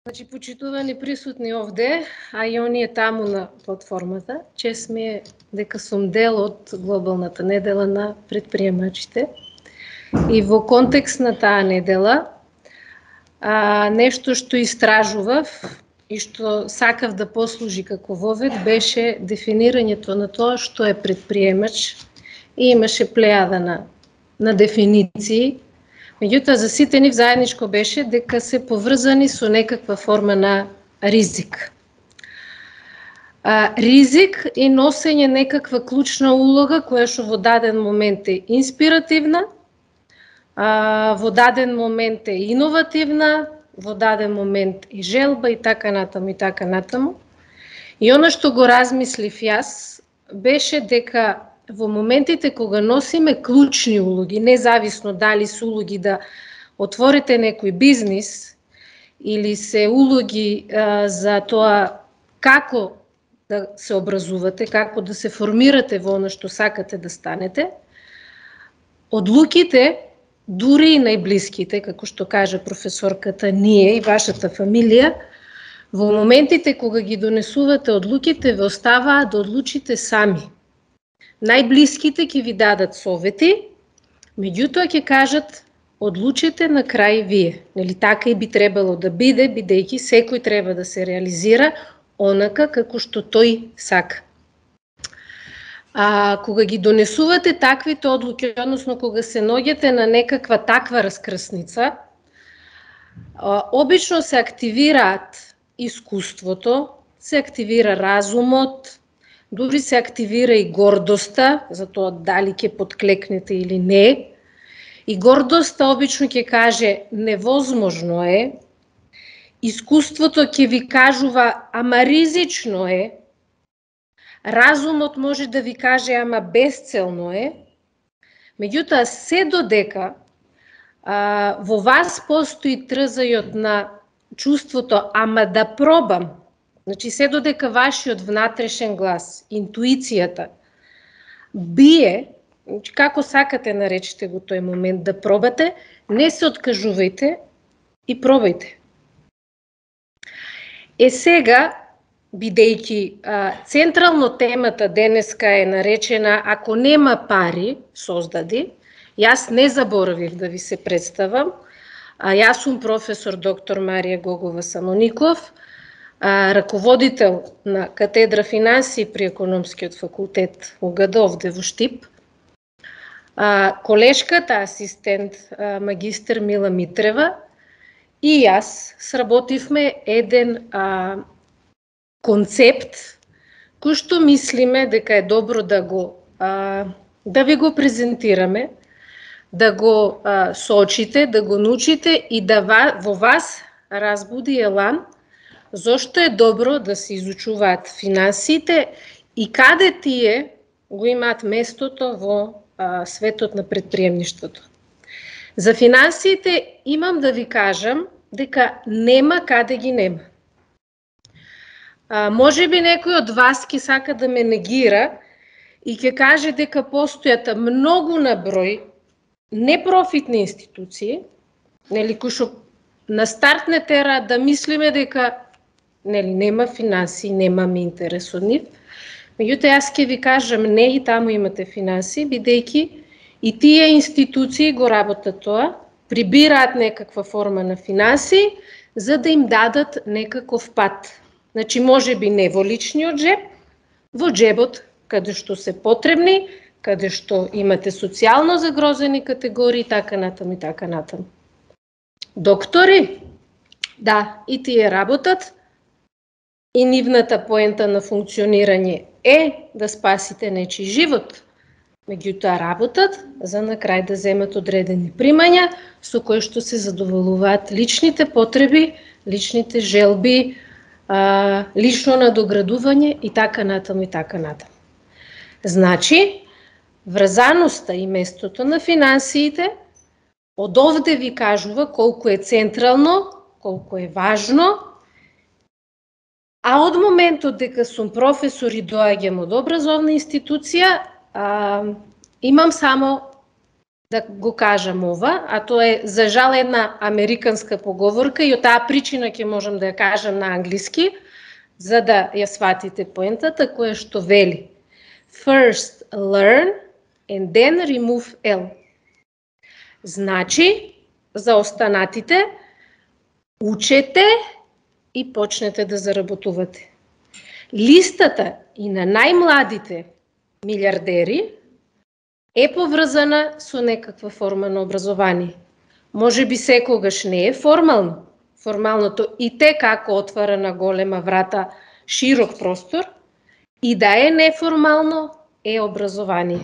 Значи, почитувани присутни овде, а и оние таму на платформата, чест ми е дека сум дел од глобалната недела на предприемачите. И во контекст на таа недела, нешто што истражував и што сакав да послужи како вовед беше дефинирањето на тоа што е предприемач и имаше плејада на дефиниции. Меѓутоа, за сите нив заедничко беше дека се поврзани со некаква форма на ризик. Ризик и носење некаква клучна улога која што во даден момент е инспиративна, во даден момент е иновативна, во даден момент е желба и така натаму и така натаму. И она што го размислив јас беше дека во моментите кога носиме клучни улоги, независно дали се улоги да отворите некој бизнис или се улоги за тоа како да се образувате, како да се формирате во она што сакате да станете, одлуките, дури и најблиските, како што кажа професорката, ние и вашата фамилија, во моментите кога ги донесувате одлуките, ве оставаат да одлучите сами. Најблиските ќе ви дадат совети, меѓутоа ќе кажат одлучете на крај вие. Нели така и би требало да биде, бидејќи секој треба да се реализира онака како што тој сака. Кога ги донесувате таквите одлуки, односно кога се наоѓате на некаква таква раскрсница, обично се активираат искуството, се активира разумот, дури се активира и гордоста, за тоа дали ќе подклекнете или не. И гордоста обично ќе каже невозможно е, искуството ќе ви кажува ама ризично е, разумот може да ви каже ама безцелно е, меѓутоа се додека во вас постои трзајот на чувството ама да пробам, значи се додека вашиот внатрешен глас, интуицијата, бие, значи како сакате наречете го тој момент да пробате, не се откажувајте и пробајте. Сега, бидејќи централно темата денеска е наречена "Ако нема пари, создади", јас не заборавив да ви се представам. Јас сум професор доктор Марија Гогова Самоников, раководител на катедра финансии при Економскиот факултет УГД овде во Штип. Колешката асистент магистер Мила Митрева и јас сработивме еден концепт кој што мислиме дека е добро да ви го презентираме, да го соочите, да го научите и да во вас разбуди елан зошто е добро да се изучуваат финансиите и каде тие го имаат местото во светот на предприемништвото. За финансиите имам да ви кажам дека нема каде ги нема. Може би некој од вас ќе сака да ме негира и ќе каже дека постојат многу на број непрофитни институции, нели, кои што на старт не тера да мислиме дека нели нема финансии, немаме интерес од нив. Меѓутоа јас ќе ви кажам не, и таму имате финансии, бидејќи и тие институции го работат тоа, прибираат некаква форма на финансии за да им дадат некаков пат. Значи може би не во личниот джеб, во джебот каде што се потребни, каде што имате социјално загрозени категории, така натаму и така натаму. Доктори, да, и тие работат, и нивната поента на функционирање е да спасите нечи живот. Меѓутоа работат за на крај да земат одредени примања со кои што се задоволуваат личните потреби, личните желби, лично надоградување и така натаму и така натаму. Значи, врзаноста и местото на финансиите од овде ви кажува колку е централно, колку е важно, а од моментот дека сум професор и доаѓам од образовна институција, имам само да го кажам ова, а тоа е за жал една американска поговорка и од таа причина ќе можам да ја кажам на англиски, за да ја сватите поентата, која што вели First learn and then remove L. Значи, за останатите, учете и почнете да заработувате. Листата и на најмладите милиардери е поврзана со некаква форма на образование. Може би секогаш не е формално. Формалното и те како отвара на голема врата широк простор, и да е неформално е образование.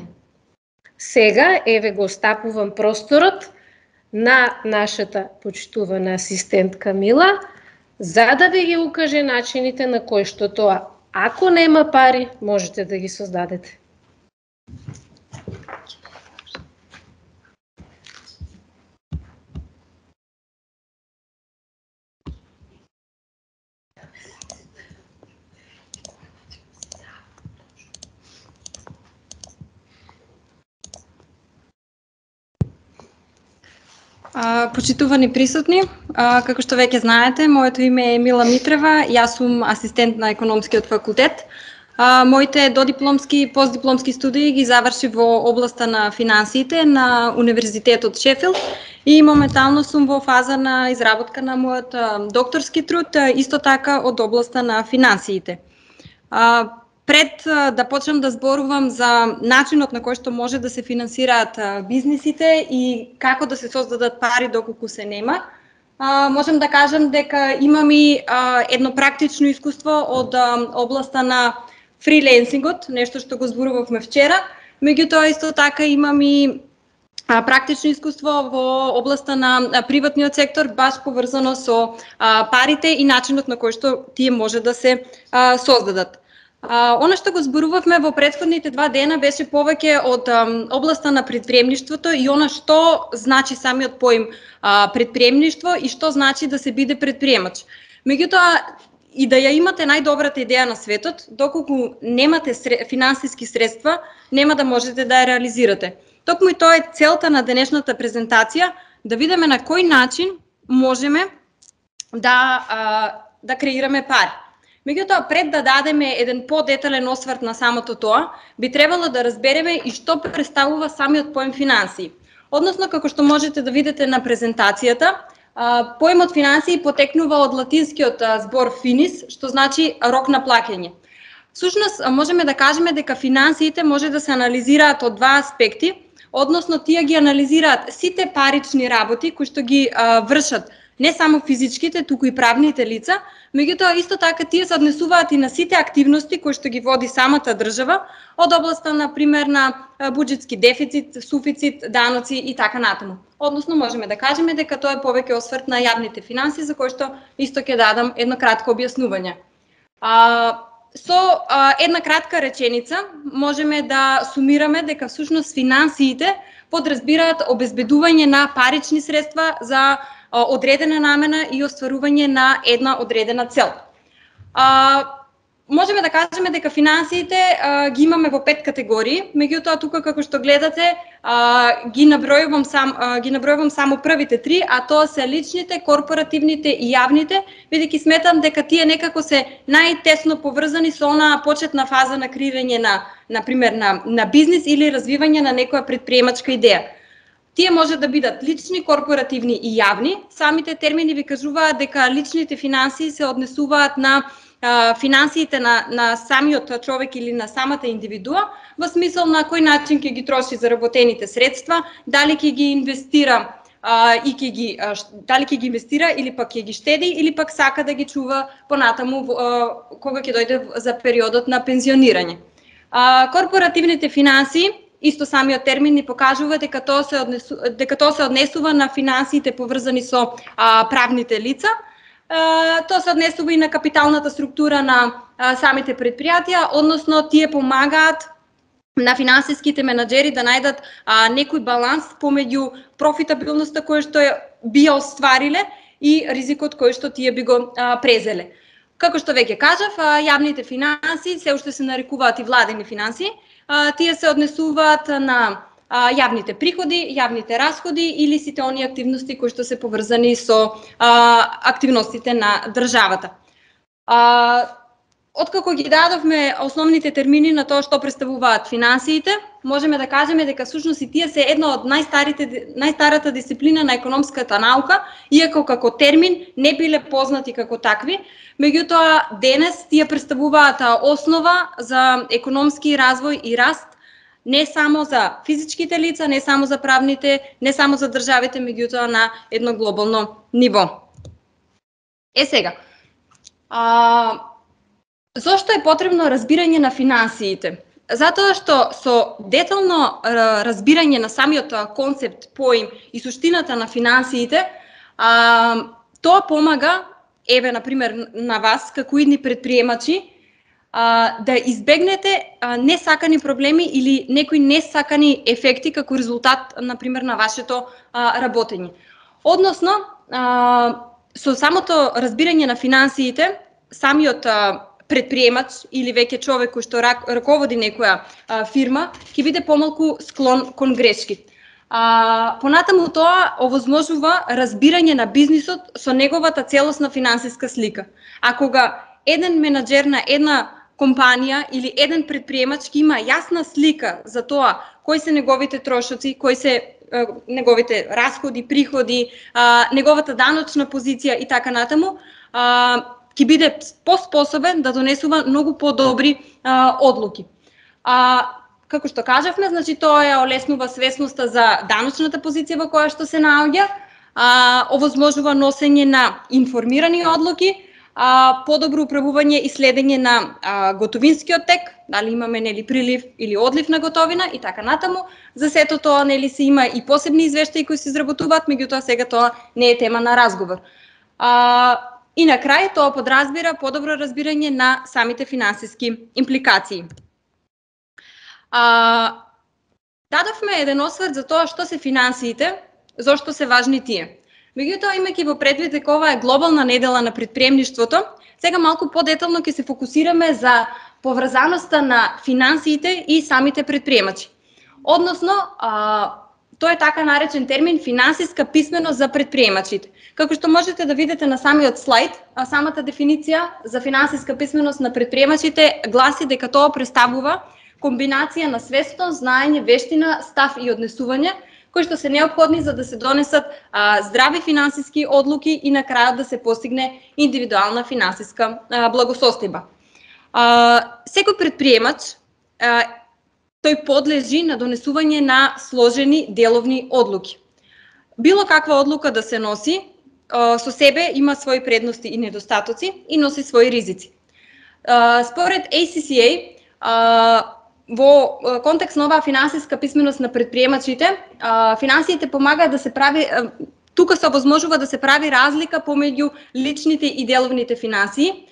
Сега, еве го стапувам просторот на нашата почитувана асистентка Мила, за да ви ги укаже начините на кои што тоа, ако нема пари, можете да ги создадете. Почитувани присутни, како што веќе знаете, моето име е Мила Митрева, јас сум асистент на економскиот факултет. Моите додипломски и постдипломски студии ги заврши во областа на финансиите на Универзитетот Шефилд и моментално сум во фаза на изработка на мојот докторски труд, исто така од областа на финансиите. Пред да почнам да зборувам за начинот на кој што може да се финансираат бизнисите и како да се создадат пари доколку се нема, можам да кажам дека имам и едно практично искуство од областа на фриленсингот, нешто што го зборувавме вчера. Меѓутоа исто така имам и практично искуство во областа на приватниот сектор, баш поврзано со парите и начинот на кој што тие може да се создадат. Она што го зборувавме во претходните 2 дена беше повеќе од областа на предприемништвото и она што значи самиот поим предприемништво и што значи да се биде предприемач. Меѓутоа, и да ја имате најдобрата идеја на светот, доколку немате финансиски средства, нема да можете да ја реализирате. Токму и тоа е целта на денешната презентација, да видиме на кој начин можеме да креираме пари. Меѓутоа, пред да дадеме еден подетален осврт на самото тоа, би требало да разбереме и што представува самиот поем финансии. Односно, како што можете да видите на презентацијата, поемот финансии потекнува од латинскиот збор finis, што значи рок на плаќање. Всушност, можеме да кажеме дека финансиите може да се анализираат од 2 аспекти, односно тие ги анализираат сите парични работи кои што ги вршат не само физичките, туку и правните лица, меѓутоа исто така тие се однесуваат и на сите активности кои што ги води самата држава, од областа на пример на буџетски дефицит, суфицит, даноци и така натаму. Односно можеме да кажеме дека тоа е повеќе осврт на јавните финанси, за кој што исто ќе дадам едно кратко објаснување. Со една кратка реченица можеме да сумираме дека всушност финансиите подразбираат обезбедување на парични средства за одредена намена и остварување на една одредена цел. Можеме да кажеме дека финансиите ги имаме во 5 категории, меѓутоа тука како што гледате ги набројувам само првите 3, а тоа се личните, корпоративните и јавните, бидејќи сметам дека тие некако се најтесно поврзани со онаа почетна фаза на креирање на пример на бизнис или развивање на некоја предприемачка идеја. Тие може да бидат лични, корпоративни и јавни. Самите термини ви кажуваат дека личните финансии се однесуваат на финансиите на самиот човек или на самата индивидуа, во смисол на кој начин ќе ги троши заработените средства, дали ќе ги инвестира дали ќе ги инвестира или пак ќе ги штеди или пак сака да ги чува понатаму кога ќе дојде за периодот на пензионирање. Корпоративните финансии, исто самиот термин ни покажува дека тоа се однесува на финансиите поврзани со правните лица. Тоа се однесува и на капиталната структура на самите предпријатија, односно тие помагаат на финансиските менаџери да најдат некој баланс помеѓу профитабилноста која што би ја оствариле и ризикот кој што тие би го презеле. Како што веќе кажав, јавните финансии се уште се нарекуваат и владени финансии. Тие се однесуваат на јавните приходи, јавните расходи или сите оние активности кои што се поврзани со активностите на државата. Откако ги дадовме основните термини на тоа што представуваат финансиите, можеме да кажеме дека всушност и тие се една од најстарата дисциплина на економската наука, иако како термин не биле познати како такви, меѓутоа денес тие представуваат основа за економски развој и раст, не само за физичките лица, не само за правните, не само за државите, меѓутоа на едно глобално ниво. Сега, зошто е потребно разбирање на финансиите? Затоа што со детално разбирање на самиот концепт, поим и суштината на финансиите, тоа помага, еве, например, на вас, како идни предприемачи, да избегнете несакани проблеми или некои несакани ефекти како резултат, например, на вашето работење. Односно, со самото разбирање на финансиите, самиот предприемач или веќе човек кој што раководи некоја фирма ќе биде помалку склон кон грешки. Понатаму тоа овозможува разбирање на бизнисот со неговата целосна финансиска слика. А кога еден менаџер на една компанија или еден предприемач ќе има јасна слика за тоа кои се неговите трошоци, кои се неговите расходи, приходи, неговата даночна позиција и така натаму, ќе биде поспособен да донесува многу подобри одлуки. Како што кажавме, значи тоа ја олеснува свесноста за даночната позиција во која што се наоѓа, овозможува носење на информирани одлуки, подобро управување и следење на готовинскиот тек, дали имаме прилив или одлив на готовина и така натаму. За сето тоа се има и посебни извештаи кои се изработуваат, меѓутоа сега тоа не е тема на разговор. И на крај тоа подразбира подобро разбирање на самите финансиски импликации. Дадовме еден осврт за тоа што се финансиите, зошто се важни тие. Меѓутоа, имајќи во предвид дека ова е глобална недела на предприемништвото, сега малку подетално ќе се фокусираме за поврзаноста на финансиите и самите предприемачи. Односно, тој е така наречен термин финансиска писменост за предприемачите. Како што можете да видите на самиот слайд, самата дефиниција за финансиска писменост на предприемачите гласи дека тоа представува комбинација на свесност, знаење, вештина, став и однесување, кои што се неопходни за да се донесат здрави финансиски одлуки и на крајот да се постигне индивидуална финансиска благосостојба. Секој предприемач тој подлежи на донесување на сложени деловни одлуки. Било каква одлука да се носи, со себе има своји предности и недостатоци и носи своји ризици. Според ACCA, во контекст на оваа финансиска писменост на предприемачите, финансиите помагаат да се прави, тука се овозможува да се прави разлика помеѓу личните и деловните финансии.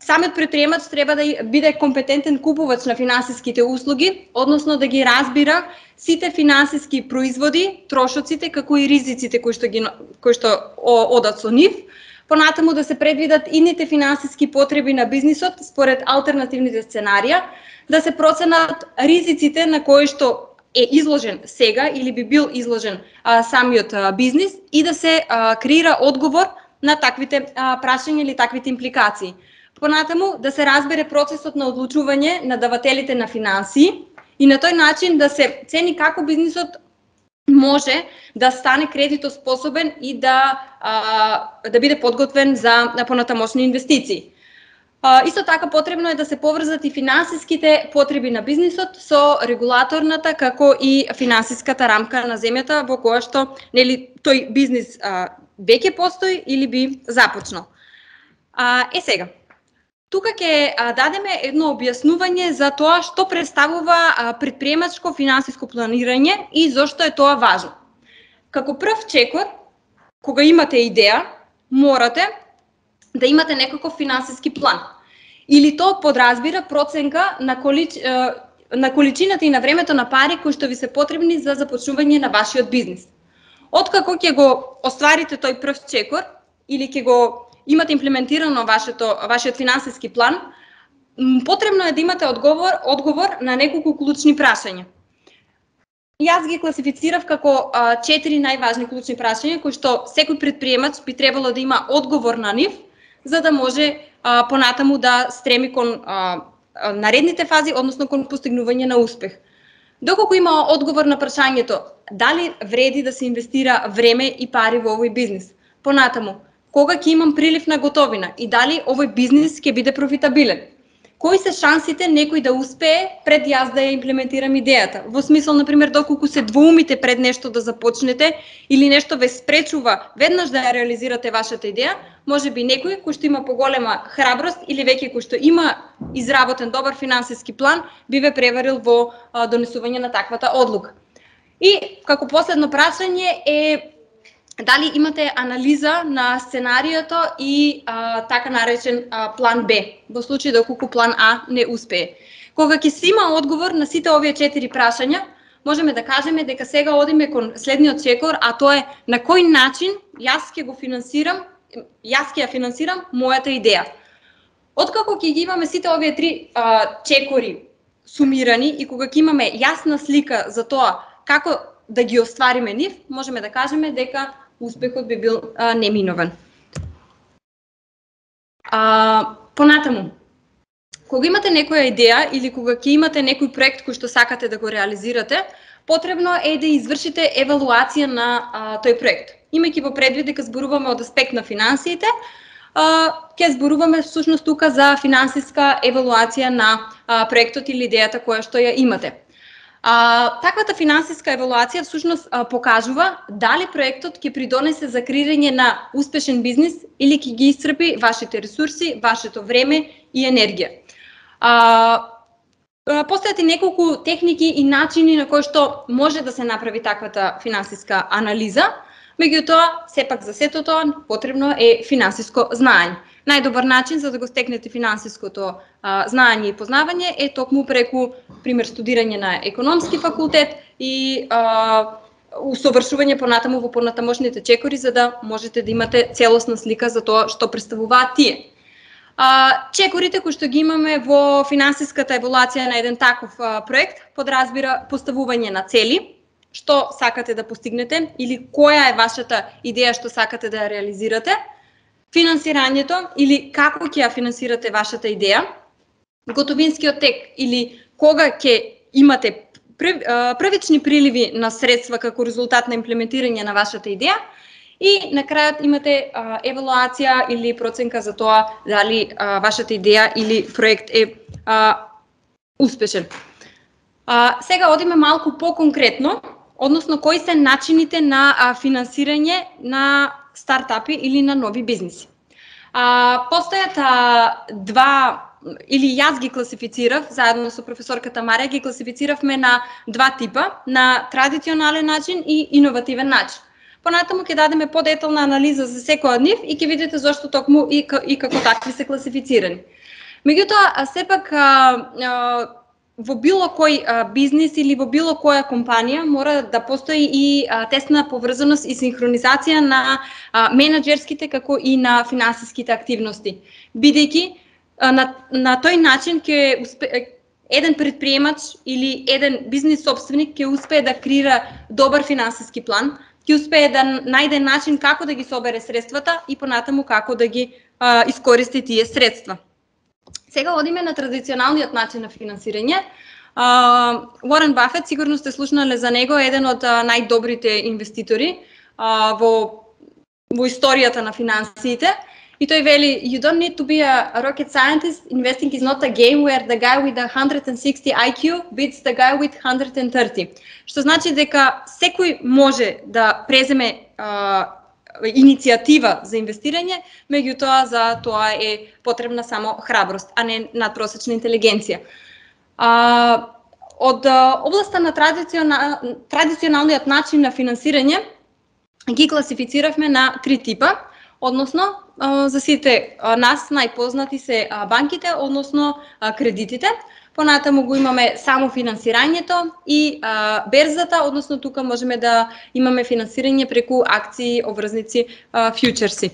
Самиот предприемач треба да биде компетентен купувач на финансиските услуги, односно да ги разбира сите финансиски производи, трошоците, како и ризиците кои што одат со нив. Понатаму да се предвидат идните финансиски потреби на бизнисот според алтернативните сценарија, да се проценат ризиците на кои што е изложен сега или би бил изложен самиот бизнис и да се креира одговор на таквите прашања или таквите импликации. Понатаму да се разбере процесот на одлучување на давателите на финансии и на тој начин да се цени како бизнисот може да стане кредитоспособен и да биде подготвен за понатамошни инвестиции. Исто така потребно е да се поврзат и финансиските потреби на бизнисот со регулаторната како и финансиската рамка на земјата во која што тој бизнис веќе постои или би започнал. Сега, тука ќе дадеме едно објаснување за тоа што представува предприемачко финансиско планирање и зошто е тоа важно. Како прв чекор, кога имате идеја, морате да имате некаков финансиски план. Или тоа подразбира проценка на количината и на времето на пари кои што ви се потребни за започнување на вашиот бизнис. Откако ќе го остварите тој прв чекор или ќе го имате имплементирано вашиот финансиски план, потребно е да имате одговор на неколку клучни прашања. Јас ги класифицирав како 4 најважни клучни прашања кои што секој претприемач би требало да има одговор на нив, за да може понатаму да стреми кон наредните фази, односно кон постигнување на успех. Доколку има одговор на прашањето дали вреди да се инвестира време и пари во овој бизнис, понатаму кога ќе имам прилив на готовина и дали овој бизнис ќе биде профитабилен. Кои се шансите некој да успее пред јас да ја имплементирам идејата? Во смисол, например, доколку се двоумите пред нешто да започнете или нешто ве спречува веднаш да ја реализирате вашата идеја, можеби некој кој што има поголема храброст или веќе кој што има изработен добар финансиски план би ве преварил во донесување на таквата одлука. И како последно прашање е дали имате анализа на сценариото и така наречен план Б, во случај доколку план А не успее. Кога ќе се има одговор на сите овие 4 прашања, можеме да кажеме дека сега одиме кон следниот чекор, а тоа е на кој начин јас ќе ја финансирам мојата идеја. Откако ќе ги имаме сите овие 3 чекори сумирани и кога ќе имаме јасна слика за тоа како да ги оствариме нив, можеме да кажеме дека успехот би бил неминовен. Понатаму, кога имате некоја идеја или кога ќе имате некој проект кој што сакате да го реализирате, потребно е да извршите евалуација на тој проект. Имајќи во предвид дека зборуваме од аспект на финансиите, ќе зборуваме всушност тука за финансиска евалуација на проектот или идејата која што ја имате. Таквата финансиска евалуација всушност покажува дали проектот ќе придонесе за креирање на успешен бизнис или ќе ги исцрпи вашите ресурси, вашето време и енергија. Постојат и неколку техники и начини на кои што може да се направи таквата финансиска анализа, меѓутоа, сепак за сето тоа потребно е финансиско знаење. Најдобар начин за да го стекнете финансиското знаење и познавање е токму преку, пример, студирање на економски факултет и усовршување понатаму во понатамошните чекори, за да можете да имате целосна слика за тоа што представуваат тие. Чекорите кои што ги имаме во финансиската евалуација на еден таков проект подразбира поставување на цели, што сакате да постигнете или која е вашата идеја што сакате да ја реализирате, финансирањето или како ќе ја финансирате вашата идеја, готовинскиот тек или кога ќе имате првични приливи на средства како резултат на имплементирање на вашата идеја и на крајот имате евалуација или проценка за тоа дали вашата идеја или проект е успешен. Сега одиме малку по-конкретно, односно кои се начините на финансирање на стартапи или на нови бизниси. Постојат или јас ги класифицирав, заедно со професорката Марија, ги класифициравме на 2 типа, на традиционален начин и иновативен начин. Понатаму ќе дадеме подетална анализа за секој од нив и ќе видите зошто токму и како такви се класифицирани. Меѓутоа, сепак, во било кој бизнис или во било која компанија мора да постои и тесна поврзаност и синхронизација на менаџерските како и на финансиските активности. Бидејќи на тој начин ќе еден претприемач или еден бизнис собственик ќе успее да креира добар финансиски план, ќе успее да најде начин како да ги собере средствата и понатаму како да ги искористи тие средства. Сега одиме на традиционалниот начин на финансирање. Уорен Бафет, сигурно сте слушнале за него, еден од најдобрите инвеститори во историјата на финансиите. И тој вели, you don't need to be a rocket scientist, investing is not a game where the guy with 160 IQ beats the guy with 130. Што значи дека секој може да преземе иницијатива за инвестирање, меѓутоа за тоа е потребна само храброст, а не надпросечна интелигенција. Од областа на традиционалниот начин на финансирање ги класифициравме на 3 типа, односно за сите нас најпознати се банките, односно кредитите. Понатаму го имаме само финансирањето и берзата, односно тука можеме да имаме финансирање преку акции, обврзници, фјучерси.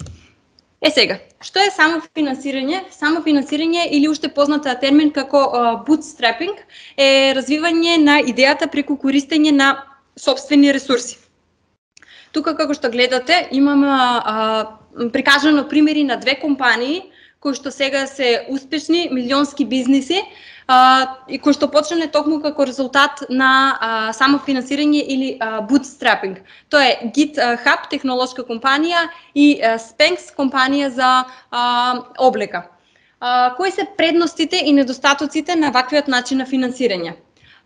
Сега, што е само финансирање? Само финансирање или уште позната термин како bootstrapping е развивање на идејата преку користење на сопствени ресурси. Тука, како што гледате, имаме прикажано примери на две компании кои што сега се успешни, милионски бизниси, и кои што почнале токму како резултат на самофинансирање или bootstrapping. Тоа е GitHub, технолошка компанија, и Spanx, компанија за облека. Кои се предностите и недостатоците на ваквиот начин на финансирање?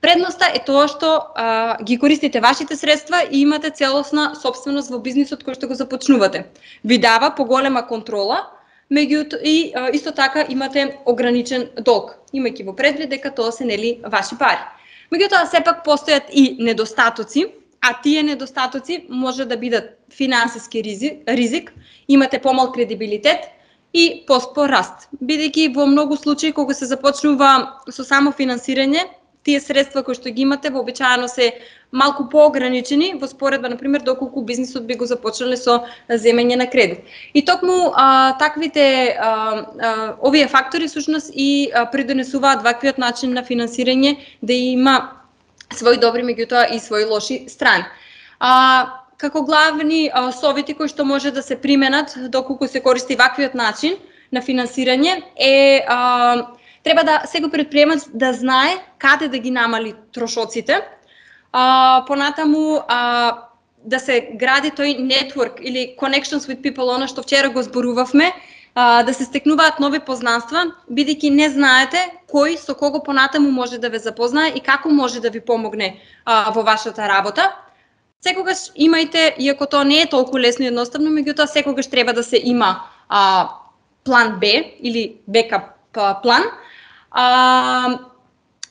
Предноста е тоа што ги користите вашите средства и имате целосна собственост во бизнисот кој што го започнувате. Ви дава поголема контрола, меѓутоа и исто така имате ограничен долг, имајќи во предвид дека тоа се нели ваши пари. Меѓутоа сепак постојат и недостатоци, а тие недостатоци може да бидат финансиски ризик, имате помал кредибилитет и поспор раст. Бидејќи во многу случаи кога се започнува со само финансирање, тие средства кои што ги имате вообичаено се малку поограничени во споредба, например, доколку бизнисот би го започнале со земење на кредит. И токму таквите овие фактори всушност и придонесуваат ваквиот начин на финансирање да има свои добри, меѓутоа и свои лоши страни. Како главни совети кои што може да се применат доколку се користи ваквиот начин на финансирање е треба да сега предприемач да знае каде да ги намали трошоците, понатаму да се гради тој network или connections with people, она што вчера го зборувавме, да се стекнуваат нови познанства, бидејќи не знаете кој со кого понатаму може да ве запознае и како може да ви помогне во вашата работа. Секогаш имајте, иако тоа не е толку лесно и едноставно, меѓутоа секогаш треба да се има план Б или бекап план.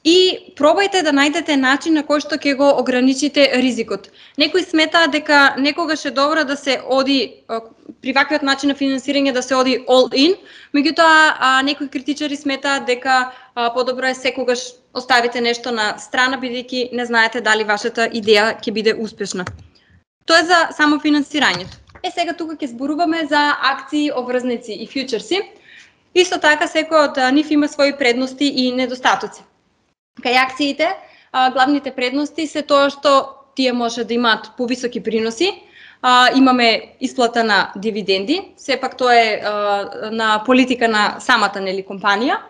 И пробајте да најдете начин на кој што ќе го ограничите ризикот. Некои сметаат дека некогаш е добро да се оди при ваквиот начин на финансирање да се оди all in, меѓутоа некои критичари сметаат дека подобро е секогаш оставите нешто на страна, бидејќи не знаете дали вашата идеја ќе биде успешна. Тоа е за само финансирањето. Сега тука ќе зборуваме за акции, обврзници и фьючерси. Исто така секој од нив има своји предности и недостатоци. Кај акциите, главните предности се тоа што тие може да имаат повисоки приноси, имаме исплата на дивиденди, сепак тоа е на политика на самата нели компанија.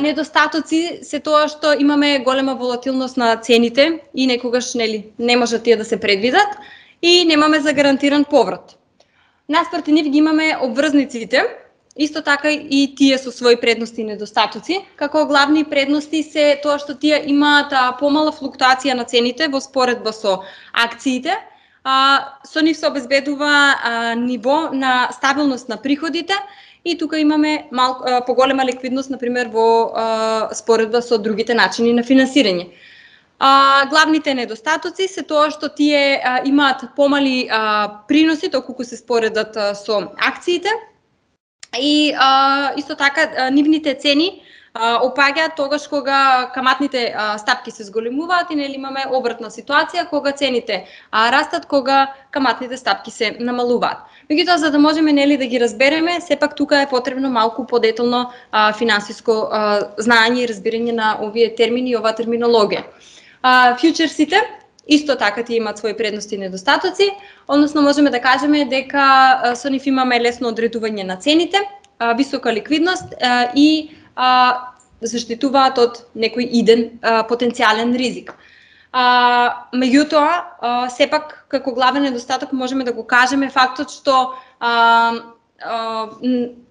Недостатоци се тоа што имаме голема волатилност на цените и некогаш нели не може тие да се предвидат и немаме загарантиран поврат. Наспроти нив ги имаме обврзниците. Исто така и тие со своји предности и недостатоци. Како главни предности се тоа што тие имаат помала флуктуација на цените во споредба со акциите. Со нив се обезбедува ниво на стабилност на приходите и тука имаме поголема ликвидност, например, во споредба со другите начини на финансирање. Главните недостатоци се тоа што тие имаат помали приноси доколку се споредат со акциите. И исто така нивните цени опаѓаат тогаш кога каматните стапки се зголемуваат и нели имаме обратна ситуација кога цените растат, кога каматните стапки се намалуваат. Меѓутоа за да можеме нели да ги разбереме, сепак тука е потребно малку подетално финансиско знаење и разбирање на овие термини и оваа терминологија. Фьючерсите исто така тие имаат своји предности и недостатоци, односно можеме да кажеме дека со нив имаме лесно одредување на цените, висока ликвидност и заштитуваат од некој иден потенцијален ризик. Меѓутоа, сепак како главен недостаток можеме да го кажеме фактот што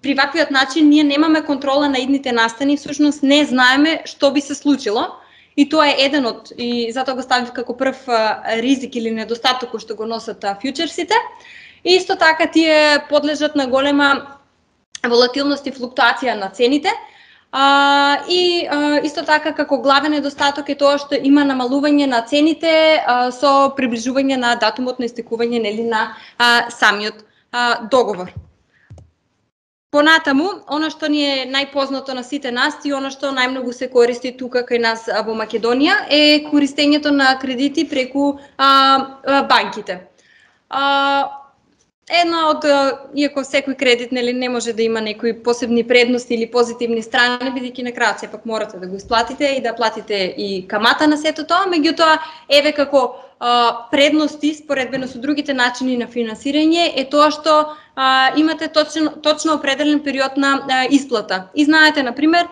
при ваквиот начин ние немаме контрола на идните настани, всушност не знаеме што би се случило. И тоа е еден од, и затоа го ставив како прв ризик или недостаток кој што го носат фьючерсите. И исто така тие подлежат на голема волатилност и флуктуација на цените. И исто така како главен недостаток е тоа што има намалување на цените со приближување на датумот на истекување нели на самиот договор. Понатаму, она што ни е најпознато на сите нас и она што најмногу се користи тука кај нас во Македонија е користењето на кредити преку банките. Една од, иако секој кредит нели не може да има некои посебни предности или позитивни страни, бидејќи на крајот сепак морате да го исплатите и да платите и камата на сето тоа, меѓутоа еве како предности споредбено со другите начини на финансирање е тоа што имате точно определен период на исплата. И знаете, например,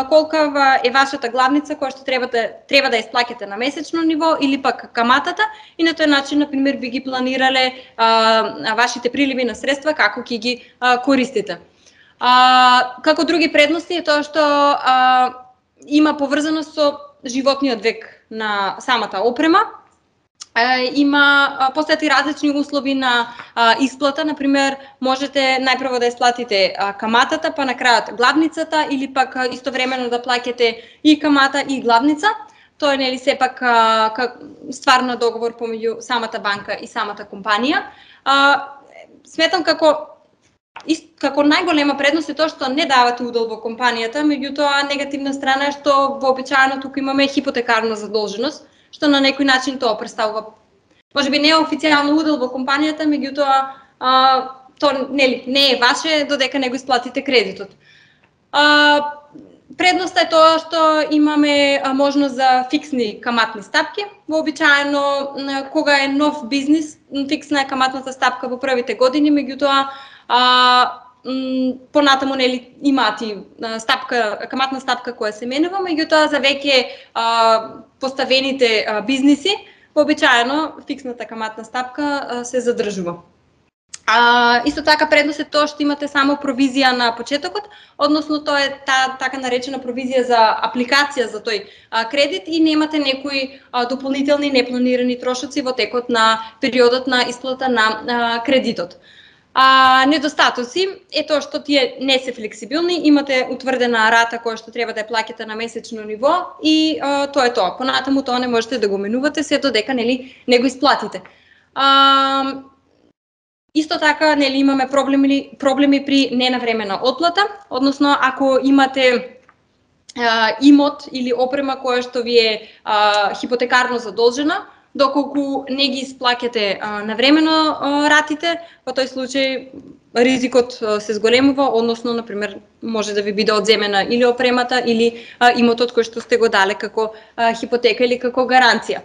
колка е вашата главница која што треба да исплаќате на месечно ниво или пак каматата, и на тој начин, например, би ги планирале вашите приливи на средства како ќе ги користите. Како други предности е тоа што има поврзаност со животниот век на самата опрема. Постојат и различни услови на исплата, например, можете најпрво да исплатите каматата, па на крајот главницата, или пак истовремено да плаќате и камата и главница. Тоа е нели сепак ствар на договор помеѓу самата банка и самата компанија. Сметам како најголема предност е тоа што не давате удел во компанијата, меѓутоа негативна страна е што вообичаено тука имаме хипотекарна задолженост, што на некој начин тоа представува, можеби не официјално удел во компанијата, меѓутоа тоа не е ваше додека не го исплатите кредитот. Предноста е тоа што имаме можност за фиксни каматни стапки. Вообичаено кога е нов бизнис, фиксна е каматната стапка во првите години, меѓутоа понатаму имаат и каматна стапка која се менува, меѓутоа за веќе поставените бизниси вообичаено фиксната каматна стапка се задржува. Исто така предност е тоа што имате само провизија на почетокот, односно тоа е така наречена провизија за апликација за тој кредит и немате некои дополнителни непланирани трошоци во текот на периодот на исплата на кредитот. Недостатоци е тоа што тие не се флексибилни, имате утврдена рата која што треба да ја плаќате на месечно ниво и тоа е тоа. Понатаму тоа не можете да го менувате се додека не го исплатите. Исто така имаме проблеми при ненавремена отплата, односно ако имате имот или опрема која што ви е хипотекарно задолжена, доколку не ги исплаќате навремено ратите, во тој случај ризикот се зголемува, односно, например, може да ви биде одземена или опремата или имотот кој што сте го дале како хипотека или како гаранција.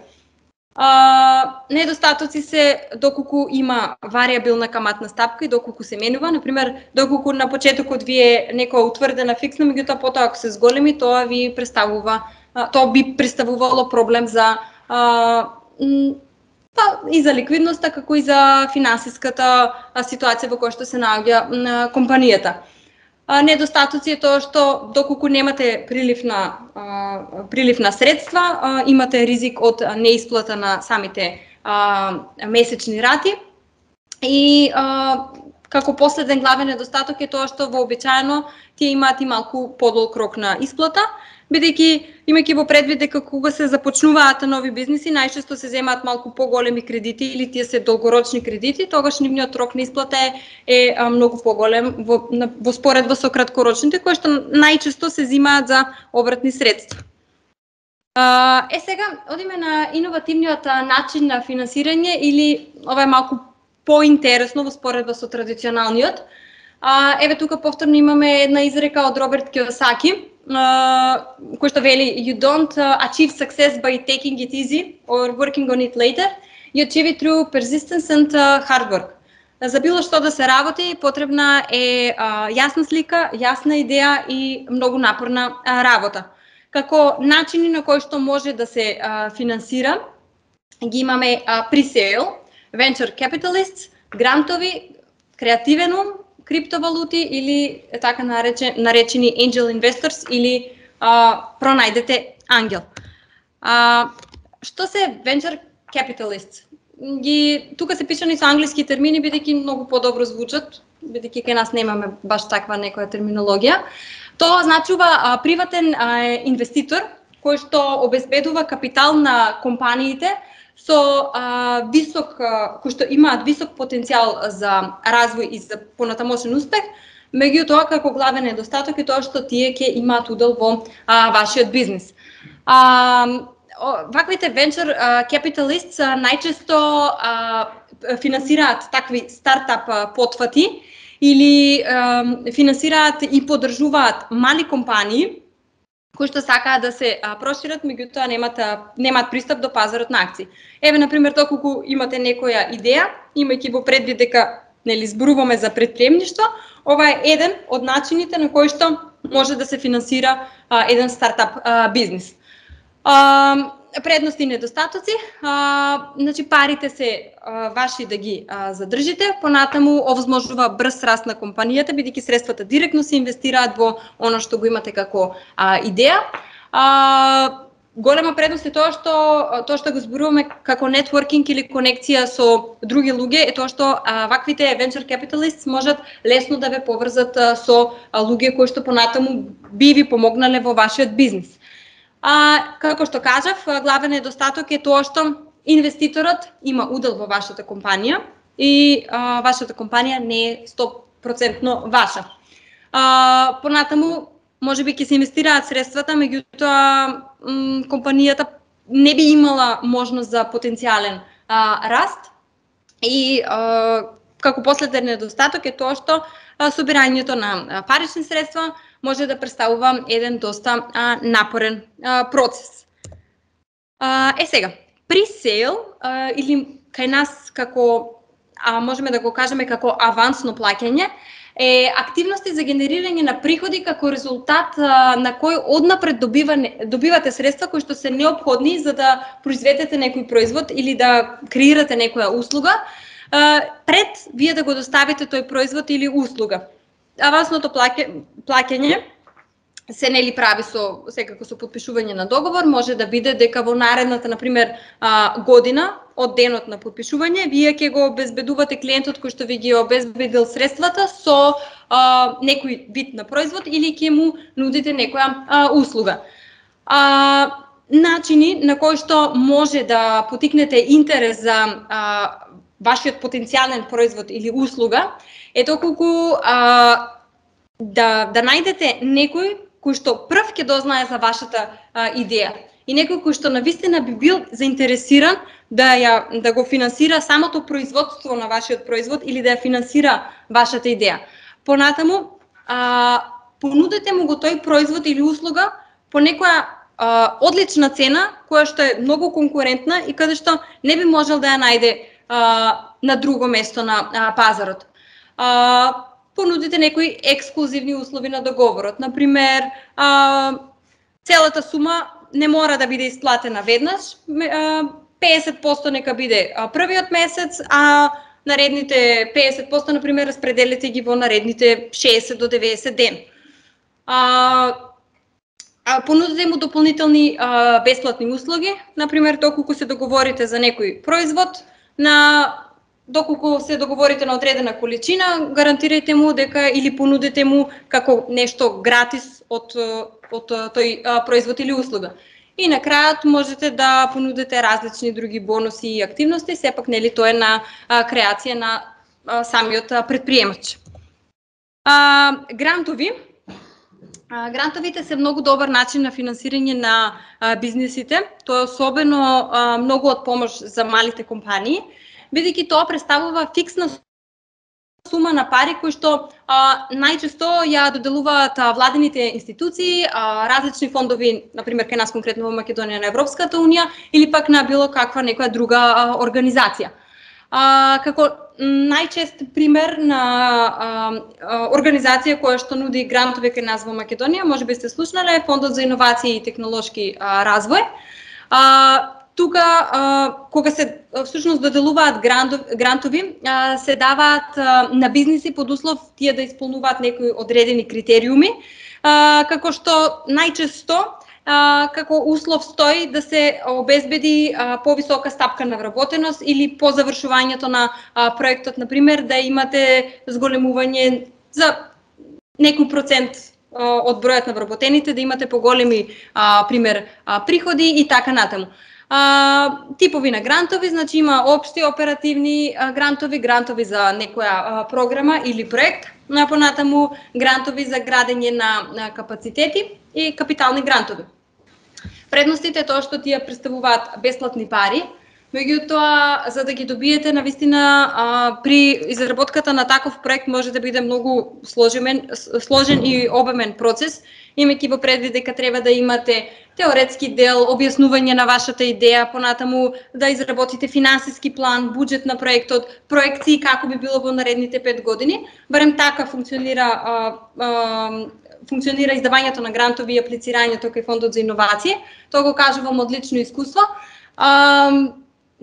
Недостатоци се доколку има варијабилна каматна стапка и доколку се менува, например, доколку на почетокот ви е некоја утврдена фиксна, меѓутоа потоа ако се зголеми, тоа би представувало проблем за и за ликвидноста, како и за финансиската ситуација во која што се наоѓа компанијата. Недостатоци е тоа што доколку немате прилив на средства, имате ризик од неисплата на самите месечни рати и како последен главен недостаток е тоа што вообичаено тие имаат и малку подолг рок на исплата, бидејќи имајќи во предвид дека кога се започнуваат нови бизниси, најчесто се земаат малку поголеми кредити или тие се долгорочни кредити, тогаш нивниот рок на исплата е многу поголем во споредба со краткорочните, кои што најчесто се земаат за обратни средства. Сега одиме на иновативниот начин на финансирање, или ова е малку поинтересно во споредба со традиционалниот. Еве тука повторно имаме една изрека од Роберт Киосаки, кој што вели: "You don't achieve success by taking it easy or working on it later. You achieve it through persistence and hard work." За било што да се работи, потребна е јасна слика, јасна идеја и многу напорна работа. Како начини на кои што може да се финансира, ги имаме pre-sale, venture capitalists, грантови, креативен ум, криптовалути или така наречени angel investors или пронајдете ангел. Што се venture capitalists? Тука се пишани со англиски термини, бидејќи многу подобро звучат, бидејќи кај нас немаме баш таква некоја терминологија. Тоа значува приватен инвеститор кој што обезбедува капитал на компаниите со кои што имаат висок потенцијал за развој и за понатамошен успех, меѓутоа како главен недостаток е тоа што тие ќе имаат удел во вашиот бизнис. Ваквите venture capitalists најчесто финансираат такви стартап потфати или финансираат и поддржуваат мали компании кои што сакаат да се прошират, меѓутоа немаат пристап до пазарот на акции. Еве, например, доколку имате некоја идеја, имајќи во предвид дека зборуваме за претприемништво, ова е еден од начините на кои што може да се финансира еден стартап бизнис. Предности и недостатоци, значи парите се ваши да ги задржите, понатаму овозможува брз раст на компанијата, бидејќи средствата директно се инвестираат во она што го имате како идеја. Голема предност е тоа што го зборуваме како нетворкинг или конекција со други луѓе, е тоа што ваквите venture capitalists можат лесно да ве поврзат со луѓе кои што понатаму би ви помогнале во вашиот бизнис. Како што кажав, главен недостаток е тоа што инвеститорот има удел во вашата компанија и вашата компанија не е 100% ваша. Понатаму, можеби ќе се инвестираат средствата, меѓутоа компанијата не би имала можност за потенцијален раст и како последен недостаток е тоа што собирањето на парични средства може да представува еден доста напорен процес. Сега, pre-sale или кај нас како можеме да го кажеме како авансно плаќање е активности за генерирање на приходи како резултат на кој однапред добивате средства кои што се неопходни за да произведете некој производ или да креирате некоја услуга, пред вие да го доставите тој производ или услуга. Авансното плаќање се прави секако со подпишување на договор, може да биде дека во наредната, например, година од денот на подпишување, вие ќе го обезбедувате клиентот кој што ви ги обезбедил средствата со некој вид на производ или ќе му нудите некоја услуга. Начини на кои што може да потикнете интерес за вашиот потенцијален производ или услуга е доколку да најдете некој кој што прв ќе дознае за вашата идеја и некој кој што навистина би бил заинтересиран да го финансира самото производство на вашиот производ или да ја финансира вашата идеја. Понатаму, понудете му го тој производ или услуга по некоја одлична цена, која што е многу конкурентна и каде што не би можел да ја најде на друго место на пазарот. Понудите некои ексклузивни услови на договорот. Например, целата сума не мора да биде исплатена веднаш, 50% нека биде првиот месец, а наредните 50%, например, распределите ги во наредните 60 до 90 ден. Понудите му дополнителни бесплатни услуги, например, доколку се договорите за некој производ, доколку се договорите на одредена количина, гарантирајте му дека или понудите му како нешто гратис од тој производ или услуга. И на крајот можете да понудите различни други бонуси и активности, сепак тоа е на креација на самиот предприемач. Грантови. Грантовите се многу добар начин на финансирање на бизнисите. Тоа е особено многу од помош за малите компании, бидејќи тоа представува фиксна сума на пари кои што најчесто ја доделуваат владените институции, различни фондови, например кај нас конкретно во Македонија на Европската унија или пак на било каква некоја друга организација. Како најчест пример на организација која што нуди грантови кај нас во Македонија, можеби сте слушнале, Фондот за иновации и технолошки развој. Тука, кога се всушност доделуваат грантови, се даваат на бизниси под услов тие да исполнуваат некои одредени критериуми, како што најчесто како услов стои да се обезбеди повисока стапка на вработеност или по завршувањето на проектот, например, да имате зголемување за некој процент од бројот на вработените, да имате поголеми пример приходи и така натаму. Типови на грантови, значи има општи оперативни грантови, грантови за некоја програма или проект, понатаму грантови за градење на капацитети и капитални грантови. Предностите е тоа што тие представуваат бесплатни пари, Меѓутоа, за да ги добиете, навистина, при изработката на таков проект може да биде многу сложен и обемен процес, имајќи во предвид дека треба да имате теоретски дел, објаснување на вашата идеја, понатаму да изработите финансиски план, буџет на проектот, проекции како би било во наредните 5 години. Барем така функционира издавањето на грантови и аплицирањето кај Фондот за иновации. Тоа го кажувам од лично искуство.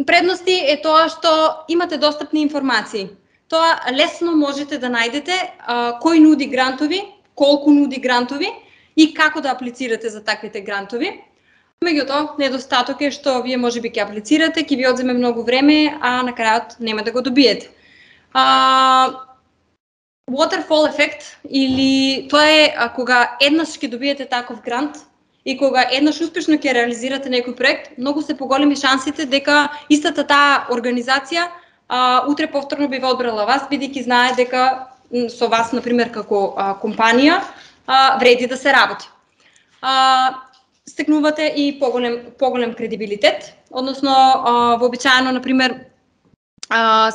Предности е тоа што имате достапни информации. Тоа лесно можете да најдете кој нуди грантови, колку нуди грантови и како да аплицирате за таквите грантови. Меѓутоа, недостаток е што вие можеби ќе аплицирате, ќе ви одземе многу време, а на крајот нема да го добиете. Waterfall ефект, или тоа е кога еднаш ќе добиете таков грант и кога еднаш успешно ќе реализирате некој проект, многу се поголеми шансите дека истата таа организација утре повторно би ве одбрала вас, бидејќи знае дека со вас, например, како компанија, вреди да се работи. Стекнувате и поголем кредибилитет, односно вообичаено, например,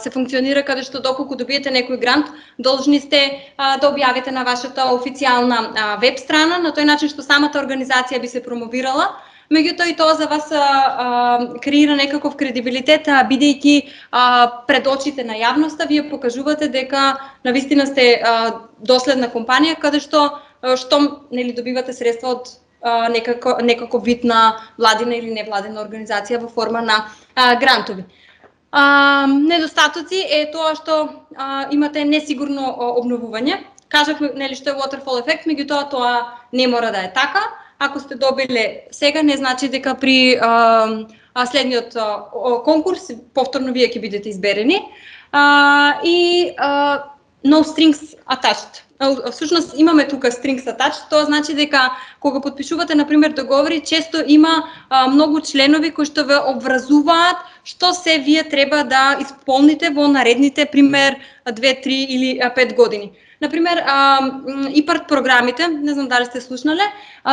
се функционира каде што доколку добиете некој грант, должни сте да објавите на вашата официјална веб страна, на тој начин што самата организација би се промовирала. Меѓутоа и тоа за вас креира некаков кредибилитет, бидејќи пред очите на јавноста вие покажувате дека навистина сте доследна компанија, каде што нели добивате средства од некаков вид на владина или невладина организација во форма на грантови. Недостатоци е тоа што имате несигурно обновување. Кажавме нели што е waterfall ефект, меѓутоа тоа не мора да е така. Ако сте добиле сега, не значи дека при следниот конкурс повторно вие ќе бидете изберени. И no strings attached. Всушност имаме тука strings attached, тоа значи дека кога подпишувате например договори, често има многу членови кои што ве обврзуваат што се вие треба да исполните во наредните пример 2, 3 или 5 години. Например, IPART програмите, не знам дали сте слушнале,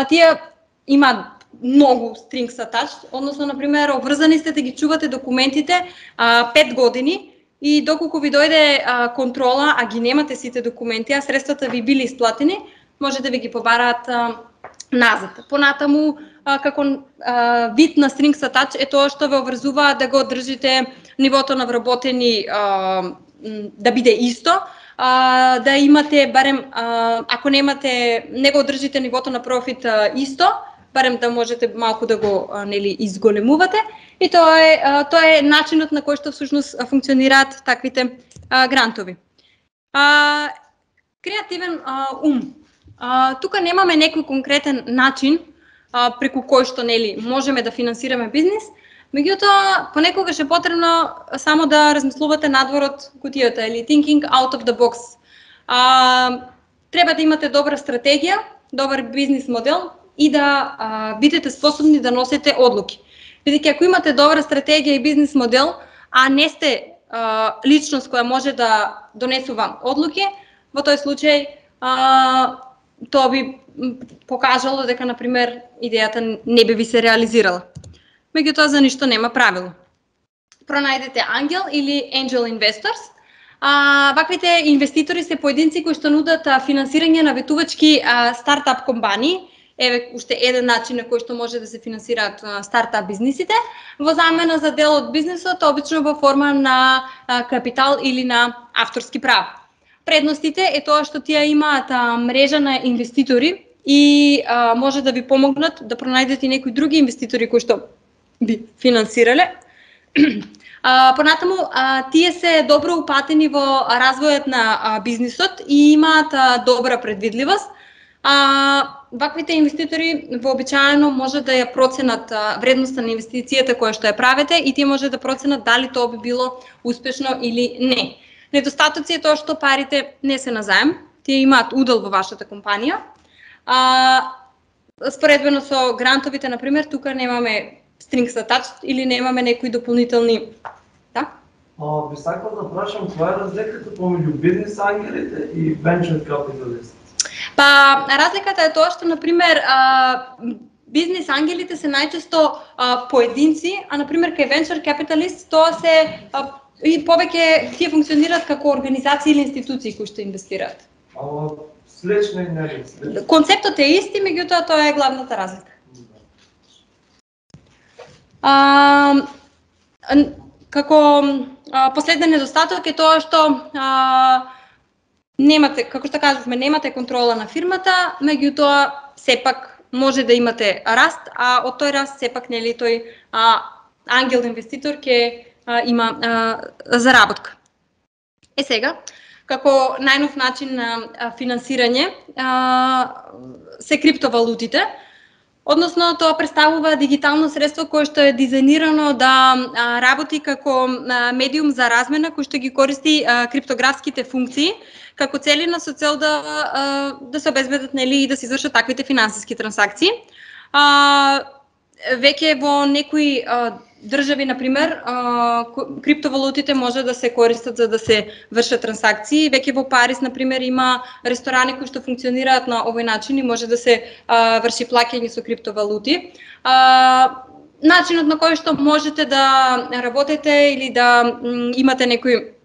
тие имаат многу strings attached, односно например обврзани сте да ги чувате документите 5 години. И доколку ви дојде контрола, а ги немате сите документи, а средствата ви били исплатени, може да ви ги побараат назад. Понатаму, како вид на strings attached е тоа што ве обврзува да го одржите нивото на вработени да биде исто, да имате барем, ако не го одржите нивото на профит исто, барем да можете малку да го нели изголемувате, и тоа е начинот на кој што всушност функционираат таквите грантови. Креативен ум. Тука немаме некој конкретен начин преку кој што нели можеме да финансираме бизнис, меѓутоа понекогаш е потребно само да размислувате надвор од кутијата или thinking out of the box. Треба да имате добра стратегија, добар бизнис модел и да бидете способни да носите одлуки. Бидејќи ако имате добра стратегија и бизнис модел, а не сте личност која може да донесува одлуки, во тој случај тоа би покажало дека, например, идејата не би ви се реализирала. Меѓутоа, за ништо нема правило. Пронајдете ангел или angel investors. Ваквите инвеститори се поединци кои што нудат финансирање на ветувачки стартап компании. Еве уште еден начин на кој што може да се финансираат стартап бизнисите, во замена за дел од бизнисот, обично во форма на капитал или на авторски права. Предностите е тоа што тие имаат мрежа на инвеститори и може да ви помогнат да пронајдете некои други инвеститори кои што би финансирале. Понатаму, тие се добро упатени во развојот на бизнисот и имаат добра предвидливост. Ваквите инвеститори вообичаено може да ја проценат вредноста на инвестицијата која што ја правите и тие може да проценат дали тоа би било успешно или не. Недостатоци е тоа што парите не се на заем, тие имаат удел во вашата компанија. Споредбено со грантовите, например, тука немаме strings attached или немаме некои дополнителни. Да? Би сакал да прашам која е разликата помеѓу бизнес ангелите и venture capitalist? Разликата е тоа што, например, бизнес ангелите се најчесто поединци, а например кај venture capitalist тоа се и повеќе тие функционираат како организации или институции кои што инвестираат. Слично и нели. Концептот е исти, меѓутоа тоа е главната разлика. Како последен недостаток е тоа што немате, како што кажувме, немате контрола на фирмата, меѓутоа сепак може да имате раст, а од тој раст сепак нели тој ангел инвеститор ќе има заработка. Сега, како најнов начин на финансирање се криптовалутите, односно тоа представува дигитално средство кое што е дизајнирано да работи како медиум за размена кој што ги користи криптографските функции како целина со цел да се обезбедат нели и да се извршат таквите финансиски трансакции. Веќе во некои држави, например, криптовалутите може да се користат за да се вршат трансакции. Веќе во Париз, например, има ресторани кои што функционираат на овој начин и може да се врши плаќање со криптовалути. Начинот на кој што можете да работите или да имате некој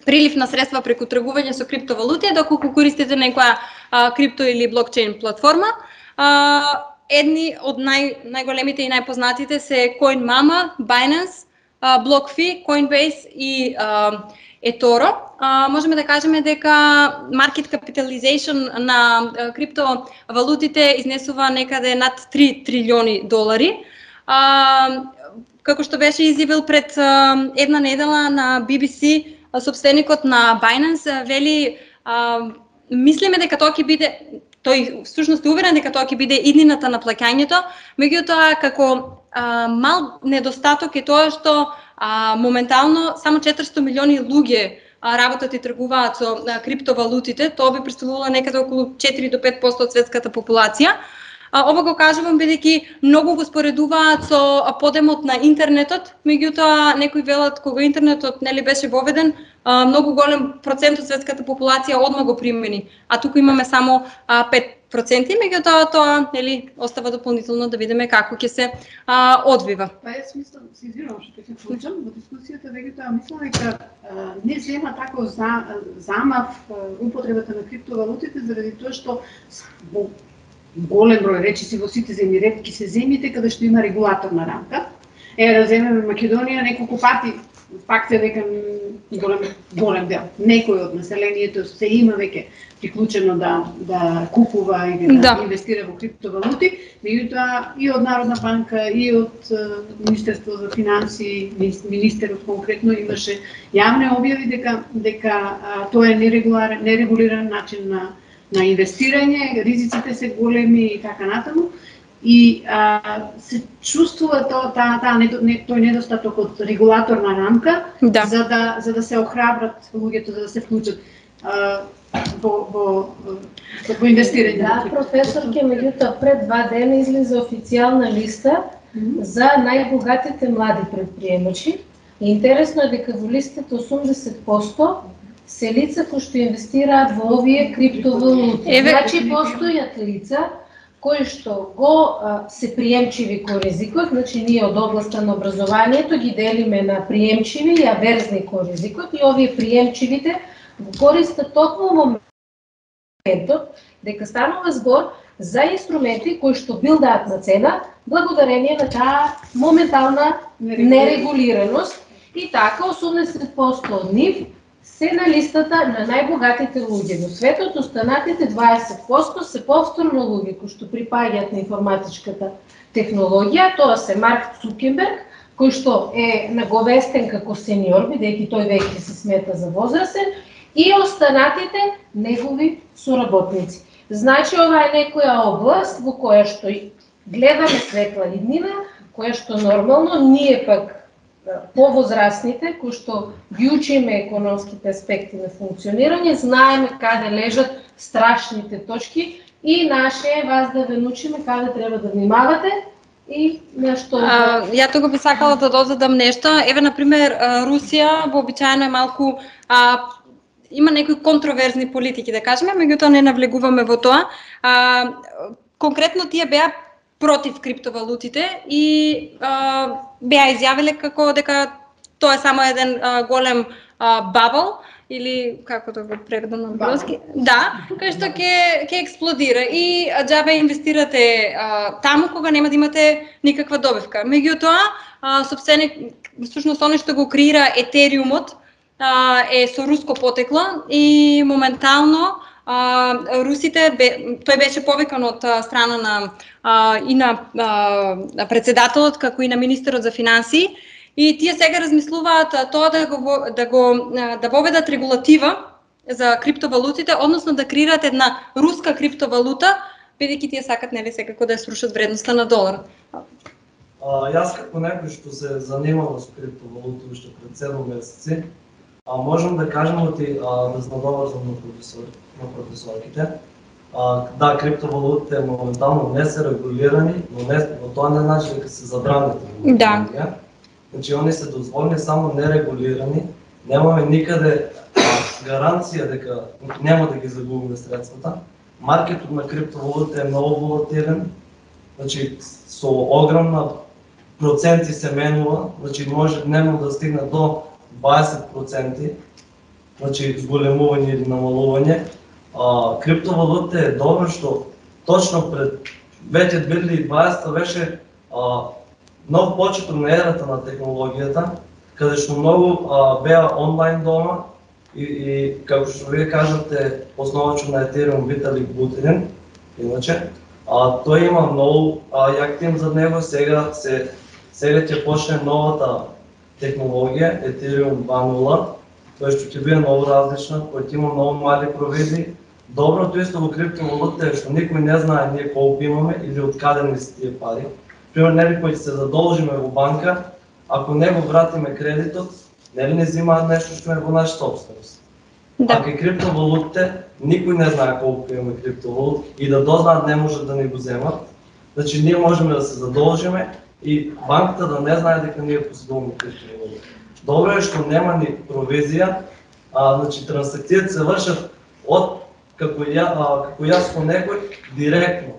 прилив на средства преку тргување со криптовалути е доколку користите некоја крипто или блокчейн платформа. Едни од најголемите и најпознатите се CoinMama, Binance, BlockFi, Coinbase и eToro. Можеме да кажеме дека market capitalization на криптовалутите изнесува некаде над 3 трилиони долари. Како што беше изјавил пред една недела на BBC, собственикот на Binance вели, мислиме дека тоа ќе биде, тој всушност е уверен дека тоа ќе биде иднината на плаќањето, меѓутоа како мал недостаток е тоа што моментално само 400 милиони луѓе работат и тргуваат со криптовалутите, тоа би представувало некаде околу 4 до 5% од светската популација. Ова го кажувам бидејќи многу го споредуваат со подемот на интернетот, меѓутоа некои велат кога интернетот нели беше воведен, многу голем процент од светската популација одма го примени, а туку имаме само 5%, меѓутоа тоа нели остава дополнително да видиме како ќе се одвива. Јас мислам, се извинувам што ќе се вклучам во дискусијата, меѓутоа мислам дека не зема тако замав употребата на криптовалутите заради тоа што голем број речиси во сите земји, ретки се земјите каде што има регулаторна рамка. Да земеме Македонија, неколку пати факт е дека голем дел, некој од населението се има веќе приклучено да купува или да инвестира во криптовалути, меѓутоа и од Народна банка и од Министерство за финансии, министерот конкретно имаше јавни објави дека тоа е нерегулиран начин на инвестирање, ризиците се големи и така натаму. И се чувствува тој недостаток од регулаторна рамка, за да се охрабрат луѓето, за да се вклучат во инвестирање. Да, професорке, меѓутоа пред 2 дена излезе официјална листа за најбогатите млади предприемачи. Интересно е дека во листата 80% се лица кои што инвестираат во овие криптовалути. Значи постојат лица кои што се приемчиви кон ризикот, значи ние од областа на образованието ги делиме на приемчиви и аверзни кон ризикот и овие приемчивите го користат токму во моментот дека станува збор за инструменти кои што билдаат на цена благодарение на таа моментална нерегулираност и така 80% од нив се на листата на најбогатите луѓе. Во светот останатите 20% се повторно луѓе кои што припаѓаат на информатичката технологија. Тоа се Марк Цукерберг, кој што е наговестен како сениор, бидејќи тој веќе се смета за возрастен, и останатите негови соработници. Значи ова е некоја област во која што гледаме светла иднина, која што нормално ние пак повозрастните, кои што ги учиме економските аспекти на функционирање, знаеме каде лежат страшните точки и наше е вас да ве научиме каде треба да внимавате и нешто. Ја тука би сакала да додадам нешто. Еве, например, Русија вообичаено е малку има некои контроверзни политики, да кажеме, меѓутоа не навлегуваме во тоа. Конкретно тие беа против криптовалутите и беа изјавиле како дека тоа е само еден голем бабл или како да го преведам на англиски. Да, кај што ќе експлодира и џабе инвестирате таму кога нема да имате никаква добивка. Меѓутоа, всушност оно што го креира Етериумот е со руско потекло и моментално русите, тој беше повикан од страна на председателот, како и на министерот за финансии, и тие сега размислуваат тоа да воведат регулатива за криптовалутите, односно да креираат една руска криптовалута, бидејќи тие сакат нели секако да ја срушат вредноста на долар. Јас како некој што се занимава со криптовалути уште пред 7 месеци, можам да кажам да се надоврзам на професорките. Да, криптовалутите моментално не се регулирани, но тоа не значи дека се забранети. Да. Значи, они се дозволени само нерегулирани, немаме никаде гаранција дека нема да ги загубиме средствата. Маркетот на криптовалутите е многу волатилен, значи со огромна проценти се менува, значи може дневно да стигне до 20%, значи зголемување или намалување. Криптовалутите е добро што точно пред веќе 2020 беше нов почеток на ерата на технологијата, каде што многу беа онлайн дома и како што вие кажате, основачот на Етериум Виталик Бутерин, иначе, тој има многу јак тим за него, сега ќе почне новата технологија, Ethereum 2.0, тој што ќе биде многу различна, кој ќе има многу мали провизии. Доброто исто во криптовалутите е што никој не знае ние колку имаме или од каде ни се тие пари. Пример, нели кој се задолжиме во банка, ако не го вратиме кредитот, нели не земаат нешто што е во наша собственост. Да. А кај криптовалутите никој не знае колку имаме криптовалути и да дознаат не може да ни го земат. Значи ние можеме да се задолжиме и банката да не знае дека ние поседуваме криптовалути. Добро е што нема ни провизија, значи трансакциите се вршат од како јас со некој директно.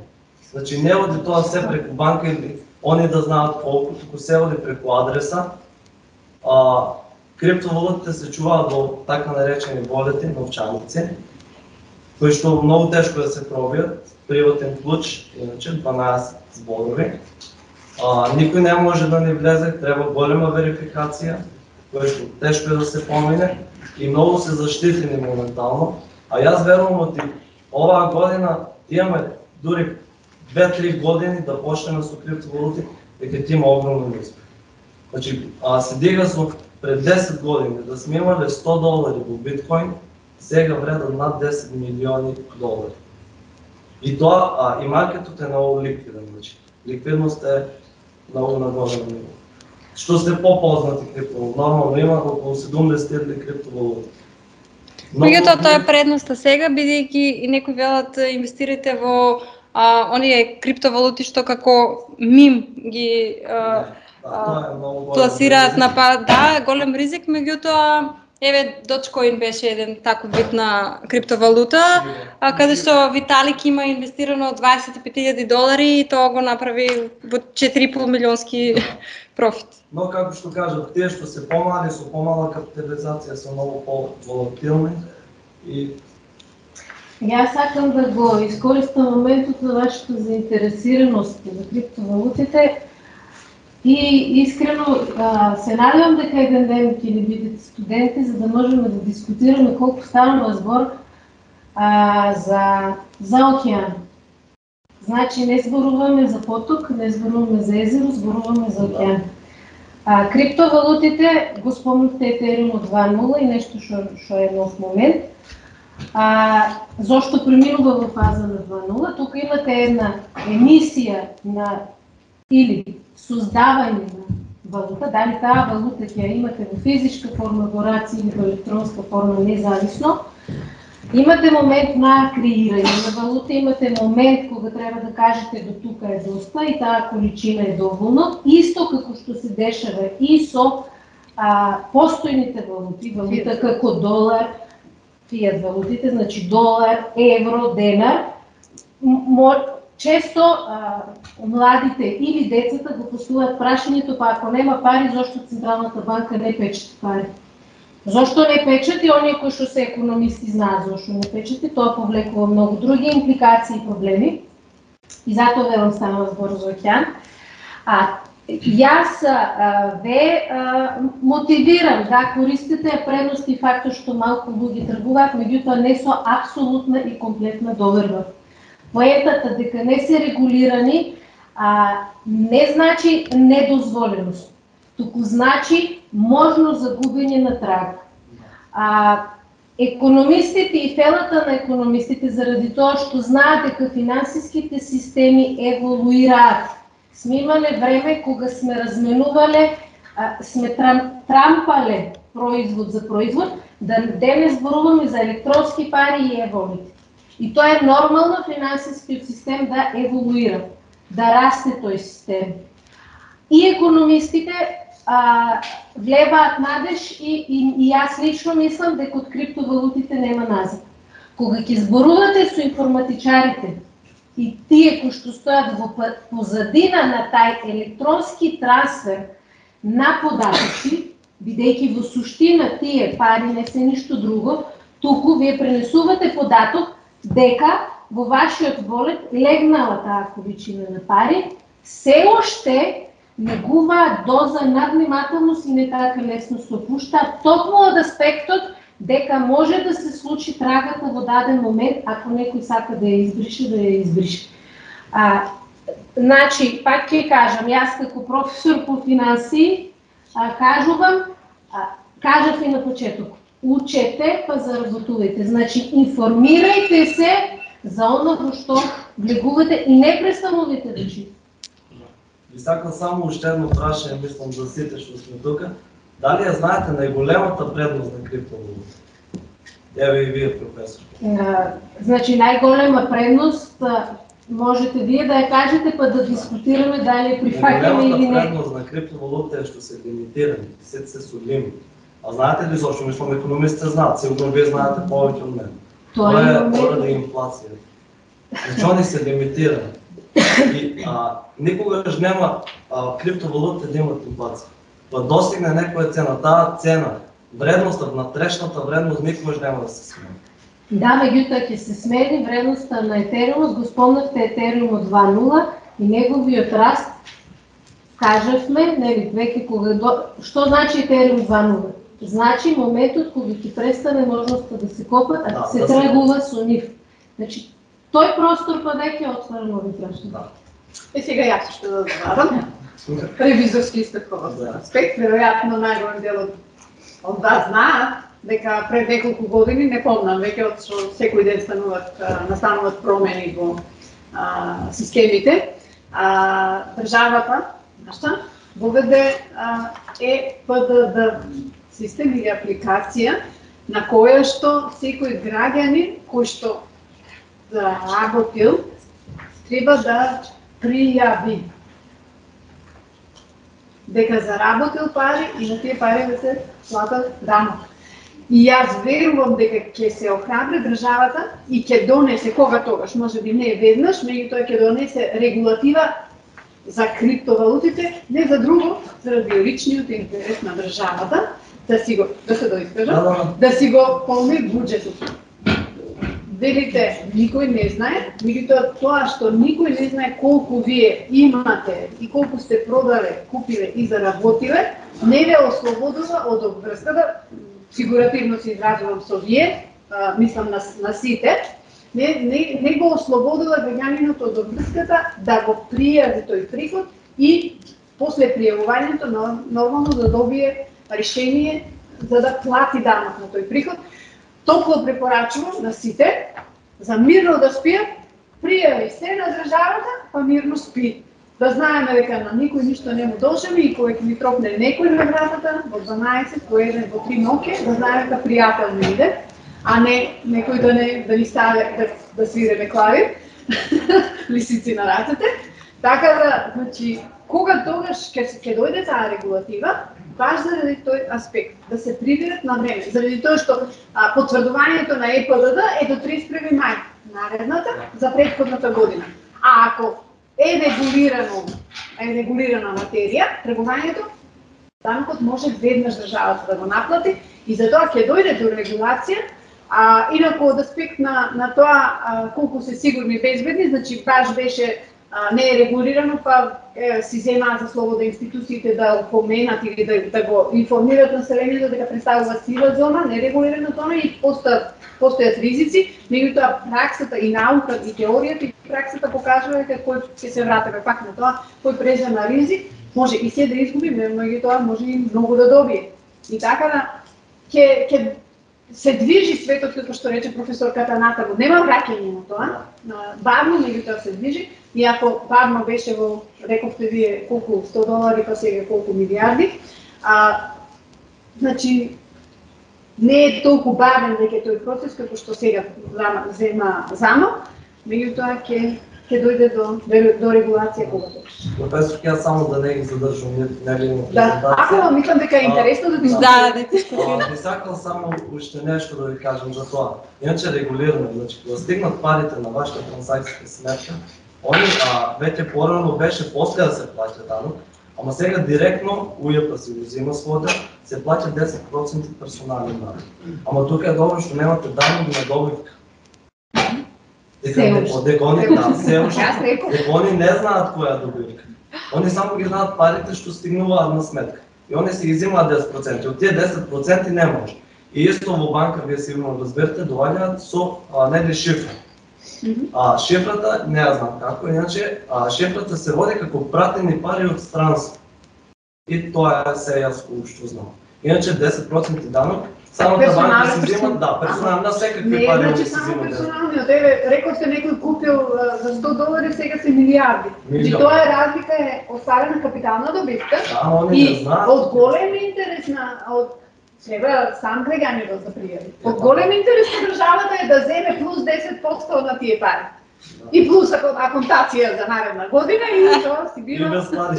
Значи не оди тоа се преку банка или они да знаат колку, туку се оди преку адреса. Криптовалутите се чуваат во така наречени волети, новчаници, кои што многу тешко да се пробијат, приватен клуч, иначе 12 зборови. Никој не може да ни влезе, треба голема верификација, која што тешко е да се помине и многу се заштитени моментално. А јас верувам од оваа година имаме дури 2-3 години да почнеме со криптовалути, дека ќе има огромен успех. Значи, се дига со пред 10 години да сме имале $100 во биткоин, сега вредат над 10 милиони долари. И тоа, и маркетот е многу ликвиден, значи. Ликвидност е многу на големо ниво. Што се попознати криптовалути, нормално има околу 70 криптовалути. Меѓутоа тоа е предноста сега, бидејќи и некои велат инвестирате во оние криптовалути што како мим ги пласираат на голем ризик, меѓутоа еве Dogecoin беше еден таков вид на криптовалута, каде што Виталик има инвестирано $25,000 и тоа го направи во 4,5 милионски профит. Но како што кажат, тие што се помали со помала капитализација се многу по-волатилни и Јас сакам да го искористам моментот на вашата заинтересираност за криптовалутите и искрено се надевам дека еден ден ќе ни бидете студенти, за да можеме да дискутираме колку станува збор за океан. Значи не зборуваме за поток, не зборуваме за езеро, зборуваме за океан. Криптовалутите, го спомнахте Ethereum 2.0 и нешто што е нов момент. Зошто преминува во фаза на 2.0? Тука имате една емисија или создавање на валута, дали таа валута ќе ја имате во физичка форма, во раци или во електронска форма, независно. Имате момент на креирање на валута, имате момент кога треба да кажете до тука е доста и таа количина е доволно, исто како што се дешава и со постојните валути, валута како долар, фиат валутите, значи долар, евро, денар, често младите или децата го поставуваат прашањето, па ако нема пари, зошто Централната банка не печати пари? Зошто не печати? Оние кои што се економисти знаат зошто не печати, тоа повлекува многу други импликации и проблеми. И затоа велам станува збор за океан. Јас ве мотивирам да користите предност и фактот што малку луѓе тргуваат, меѓутоа не со апсолутна и комплетна доверба. Поентата дека не се регулирани не значи недозволеност, туку значи можно загубење на траг. Економистите и фелата на економистите заради тоа што знаат дека финансиските системи еволуираат. Сме имале време кога сме разменувале, сме трампале производ за производ, да денес зборуваме за електронски пари и еволите. И тоа е нормално финансискиот систем да еволуира, да расте тој систем. И економистите влебаат надеж и јас лично мислам дека од криптовалутите нема назад. Кога ќе зборувате со информатичарите и тие кои што стојат во позадина на тај електронски трансфер на податоци, бидејќи во суштина тие пари не се ништо друго, туку вие пренесувате податок дека во вашиот волет легнала таа количина на пари, се уште негуваат доза надвнимателност и не така лесно се опуштаат, токму од аспектот дека може да се случи трагата во даден момент, ако некој сака да ја избрише, да ја избрише. Значи, пак ќе кажам, јас како професор по финансии, кажувам, кажав и на почеток, учете па заработувајте, значи информирајте се за оно во што влегувате и не престанувате да читате. Ви сакам само уште едно прашање, мислам за сите што сме тука. Дали ја знаете најголемата предност на криптовалута? Еве и вие, професор. Значи најголема предност можете вие да ја кажете па да дискутираме дали ја прифаќаме или не. Најголемата предност на криптовалута е што се лимитирани, сите се со лимит. А знаете ли зашто? Мислам економистите знаат, сигурно вие знаете повеќе од мене. Тоа е поради инфлација. Значи они се лимитирани. И никогаш нема криптовалута да имат инфлација. Па достигне некоја цена, таа цена, вредноста, внатрешната вредност никогаш нема да се смени. Да, меѓутоа ќе се смени вредноста на Етериум, го спомнавте Етериум од 2.0 и неговиот раст, кажавме, нели, веќе кога што значи Етериум 2.0? Значи моментот кога ќе престане можноста да се копат, а се тргува со нив. Значи тој простор па веќе отвара нови прашања. Сега јас што да добавам. Ревизорски истаков аспект, веројатно најголем дел од вас знаат дека пред неколку години, не помнам, веќе од што секој ден настануваат промени во системите, државата нашата воведе ЕПДД систем или апликација на која што секој граѓанин кој што работил треба да пријави дека заработил пари и на тие пари да се платат данок. И јас верувам дека ќе се охрабри државата и ќе донесе кога тогаш, може би не веднаш, меѓутоа ќе донесе регулатива за криптовалутите, не за друго, заради личниот интерес на државата, да си го, да се доискажам, да си го полни буџетот. Велите, никој не знае, меѓутоа тоа што никој не знае колку вие имате и колку сте продале, купиле и заработиле, не ве ослободува од обврската, фигуративно се изразувам со вие, мислам на сите, не го ослободува граѓанинот од обврската да го пријави тој приход и после пријавувањето нормално да добие решение за да плати данок на тој приход. Топло препорачувам на сите за мирно да спијат, пријави се на државата, па мирно спи. Да знаеме дека на никој ништо не му должиме и кога ќе ни тропне некој на вратата во 12, во 1, во 3 ноќе, да знаеме дека пријател не иде, а не некој да ни стави да свиреме клавир, лисици на рацете. Така да, значи, кога тогаш ќе дојде таа регулатива, баш заради тој аспект, да се приведат на време, заради тоа што потврдувањето на ЕПДД е до 31 мај наредната за претходната година. А ако е регулирана материја, тргувањето, данокот може веднаш државата да го наплати и затоа ќе дојде до регулација. Инаку од аспект на тоа колку се сигурни и безбедни, значи баш беше не е регулирано, па си земаат за слобода институциите да упоменат или да го информираат населението дека представува сива зона, нерегулирана зона и постојат ризици, меѓутоа праксата и науката и теоријата и праксата покажува дека кој ќе се вратиме пак на тоа, кој презема ризик, може и се да изгуби, меѓутоа може и многу да добие. И така да ќе се движи светот, како што рече професорката Натаво, нема враќање на тоа, бавно, меѓутоа се движи, и ако бавно беше во, рековте вие, колку $100, па сега колку милиарди, значи, не е толку бавен дека тој процес, како што сега зема замок, меѓутоа ќе дојде до регулација кога точно. Професор, јас само да не ги задржам неговата презентација. Да, ако мислам дека е интересно да дискутираме. Би сакал само уште нешто да ви кажам за тоа. Иначе регулирано, значи кога стигнат парите на вашата трансакцијска сметка, они веќе порано беше после да се плаќа данок, ама сега директно УЈП си го зема својот, се плаќа 10% персонален данок. Ама тука е добро што немате данок на добивка. Дека они не знаат која добивка. Они само ги знаат парите што стигнуваат на сметка. И они се ги земаат 10%. Од тие 10% не може. И исто во банка, вие сигурно разберете, доаѓаат со негде шифра. Шифрата не ја знам како, иначе шифрата се води како пратени пари од странство. И тоа е се јас што знам. Иначе 10% данок самата банка се зема, персонално секакви пари значи се земат. Не, персонално, рековте некој купил за $100, сега се милиарди. И тоа е разлика е оставена капитална добивка и од голем интерес треба сам гледањето да пријави. Од голем интерес на државата е да земе плюс 10% на тие пари. И плюс аконтација за наредна година и тоа си бива. И без пари.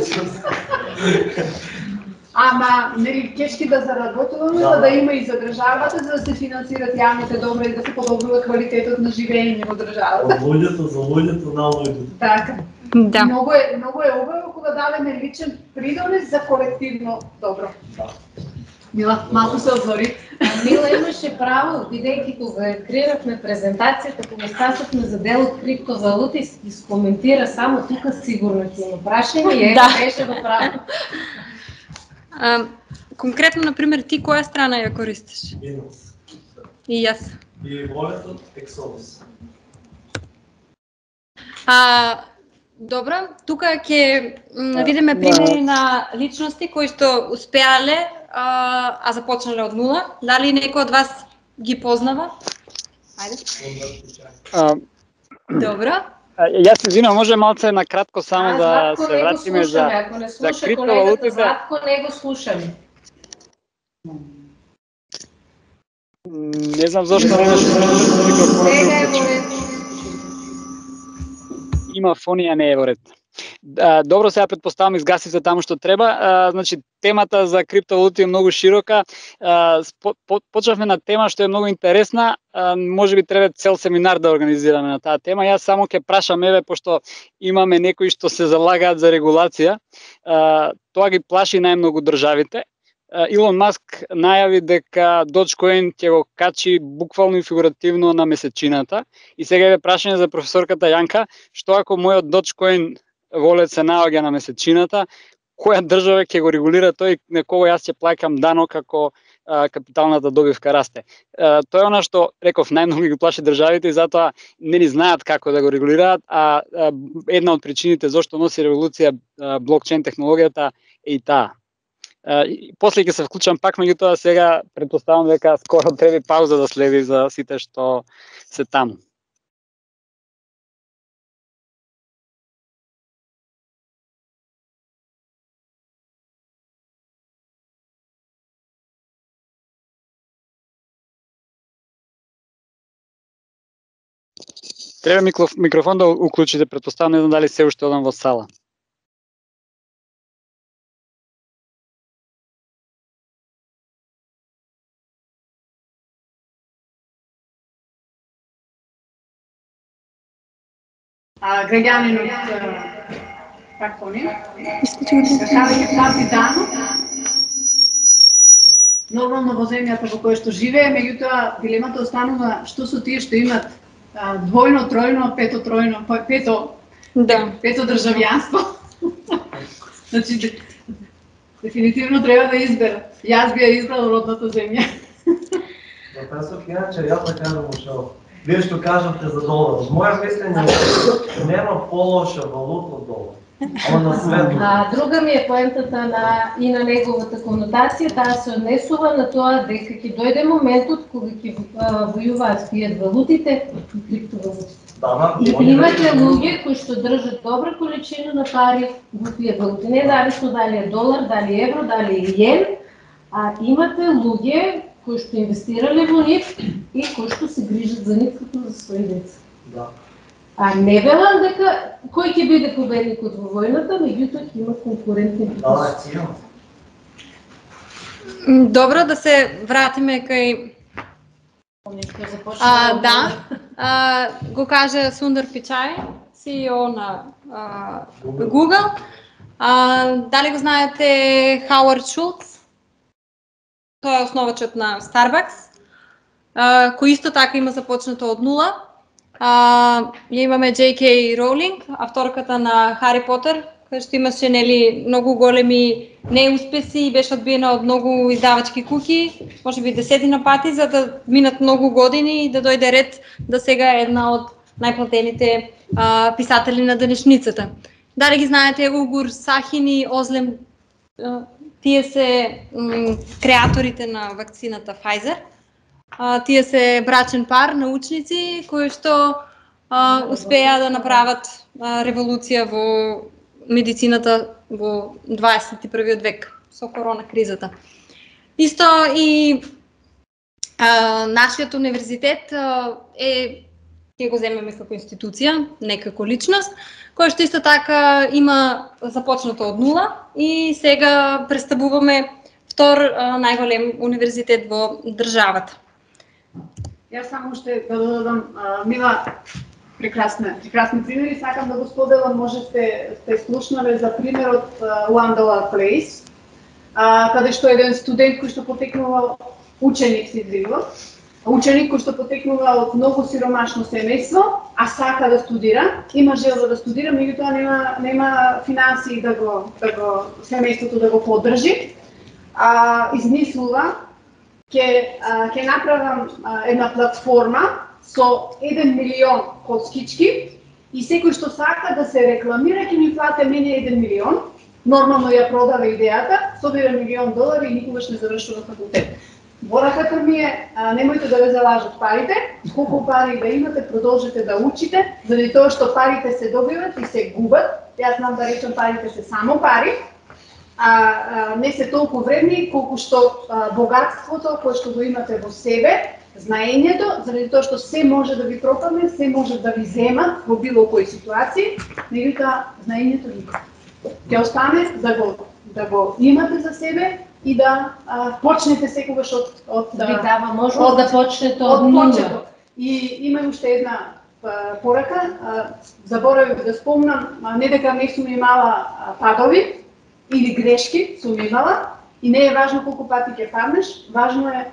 Ама, нели, кешки да заработуваме, за да има и за државата, за да се финансират јавните добри и да се подобрува квалитетот на живење во државата. Од луѓето за луѓето на луѓето. Така. Да. Многу е убаво кога дадеме личен придонес за колективно добро. Мила, малку се отвори. Мила имаше право, бидејќи кога креирахме презентацијата, кога стасовме за дел од криптовалути, и скоментира само тука сигурно ќе има прашање и беше во право. Конкретно, например, ти која страна ја користиш? Binance. И јас. И волетот Exodus. Добро, тука ќе видиме примери на личности кои што успеале, а започнале од нула. Дали некој од вас ги познава? Ајде. Добро. Јас се извинувам, може малце на кратко само да се вратиме за криптовалутите. Златко не го слушаме. Не знам зошто не беше микрофонот. Има фонија, не е во ред. Добро, сега претпоставам изгаси се таму што треба. Значи, темата за криптовалути е многу широка. Почнавме на тема што е многу интересна. Може би треба цел семинар да организираме на таа тема. Јас само ќе прашам, пошто имаме некои што се залагаат за регулација. Тоа ги плаши најмногу државите. Илон Маск најави дека Dogecoin ќе го качи буквално и фигуративно на месечината. И сега е прашање за професорката Јанка, што ако мојот Dogecoin волет се наоѓа на месечината, која држава ќе го регулира тој, на кого јас ќе плаќам данок ако капиталната добивка расте. Тоа е она што реков најмногу ги плаши државите и затоа не ни знаат како да го регулираат, а една од причините зашто носи револуција блокчейн технологијата е и таа. После ќе се вклучам пак, меѓутоа сега претпоставам дека скоро треба пауза да следи за сите што се таму. Треба микрофон да уклучите, претпоставам, не знам дали се уште одам во сала. граѓанин од како не? Капитано. Нормално во земјата во која што живее, меѓутоа дилемата останува што со тие што имат двојно, тројно, пето државјанство. Значи, дефинитивно треба да изберат. Јас би ја избрал родната земја. Професор Кијанче, јас да кажам ушо. Вие што кажавте за долар. Од моја мислење нема полоша валута од долар. Друга ми е поентата и на неговата конотација, таа се однесува на тоа дека ќе дојде моментот кога ќе војуваат фијат валутите и криптовалутите. И имате луѓе кои што држат добра количина на пари во фијат валути, независно дали е долар, дали е евро, дали е јен, а имате луѓе кои што инвестирале во нив и кои што се грижат за нив како за своји деца. А не велам дека кој ќе биде победникот во војната, меѓутоа ќе има конкурентни битки. Добро, да се вратиме кај го кажа Сундар Пичај, CEO на Google. Дали го знаете Хауард Шулц? Тој е основачот на Starbucks, кој исто така има започнато од нула. Имаме J.K. Роулинг, авторката на Хари Потер, која што имаше многу големи неуспеси и беше одбиена од многу издавачки куќи, можеби десетина пати, за да минат многу години и да дојде ред да сега е една од најплатените писатели на денешницата. Дали ги знаете Угур Сахин и Озлем? Тие се креаторите на вакцината Pfizer. Тие се брачен пар, научници, кои што успеа да направат револуција во медицината во 21 век со корона кризата. Исто и нашиот универзитет ќе го земеме како институција, не како личност, која што исто така има започнато од нула и сега представуваме втор најголем универзитет во државата. Јас само ще да додадам, Мила, прекрасни примери, сакам да го споделам, може сте слушнале за примерот One Dollar Place, каде што еден студент кој што потекнува, ученик се извинувам, ученик кој што потекнува од многу сиромашно семејство, а сака да студира, има желба да студира, меѓутоа нема финансии да го семејството да го поддржи, измислува ќе направам една платформа со 1 милион коскички и секој што сака да се рекламира ќе ми плати мене 1 милион. Нормално ја продава идејата, собира $1,000,000 и никогаш не завршува факултет. Пораката ми е, немојте да ве залажат парите, колку пари да имате, продолжете да учите, заради тоа што парите се добиват и се губат. Јас знам да речам парите се само пари, не се толку вредни колку што богатството кое што го имате во себе, знаењето, заради тоа што се може да ви пропадне, се може да ви земат во било кои ситуации, меѓутоа знаењето никога. Ќе остане да го имате за себе и да почнете секогаш од да ви дава можност да почнете од нула. И има уште една порака, заборавив да спомнам, не дека не сум имала падови или грешки, сум имала и не е важно колку пати ќе паднеш, важно е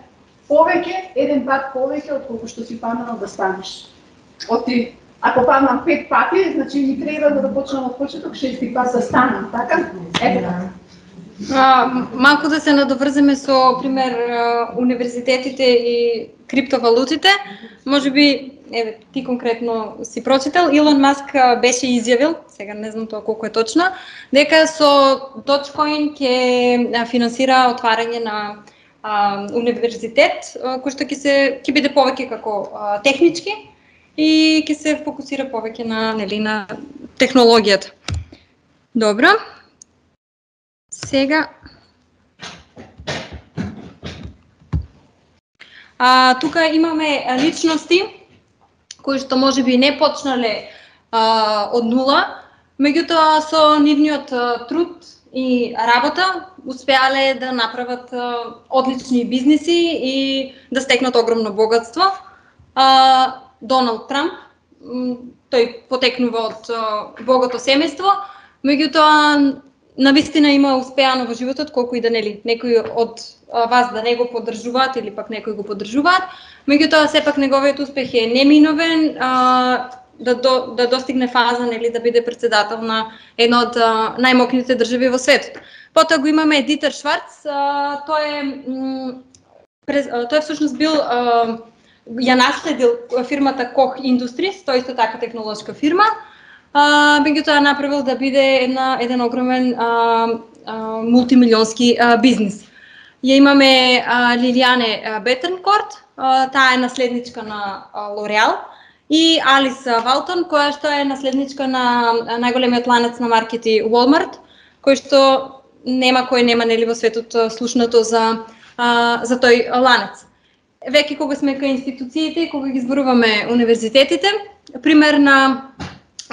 повеќе, еден пат повеќе од колку што си паднал да станеш. Ако паднам 5 пати, значи ми треба да почнам од почеток 6 пат да станам, така? Ете така. Малку да се надоврземе со пример универзитетите и криптовалутите. Можеби, ти конкретно си прочитал, Илон Маск беше изјавил, сега не знам тоа колку е точно, дека со Dogecoin ќе финансира отварање на универзитет, кој што ќе биде повеќе како технички и ќе се фокусира повеќе на технологијата. Добро. Сега тука имаме личности кои што можеби не почнале од нула, меѓутоа со нивниот труд и работа успеале да направат одлични бизниси и да стекнат огромно богатство. Доналд Трамп тој потекнува од богато семејство, меѓутоа навистина има успеано во животот, колку и да нели некои од вас да не го поддржуваат или пак некои го поддржуваат, меѓутоа сепак неговиот успех е неминовен да достигне фаза нели да биде председател на една од најмокните држави во светот. Потоа го имаме Дитер Шварц, тој всушност бил ја наследил фирмата Koch Industries, тој исто така технолошка фирма. Меѓутоа направил да биде еден огромен мултимилионски бизнис. Ја имаме Лилијане Бетернкорт, таа е наследничка на L'Oréal, и Алис Валтон, која што е наследничка на најголемиот ланец на маркети Walmart, кој што нема кој нема нели во светот слушнато за тој ланец. Веќе кога сме кај институциите, кога ги зборуваме универзитетите, пример на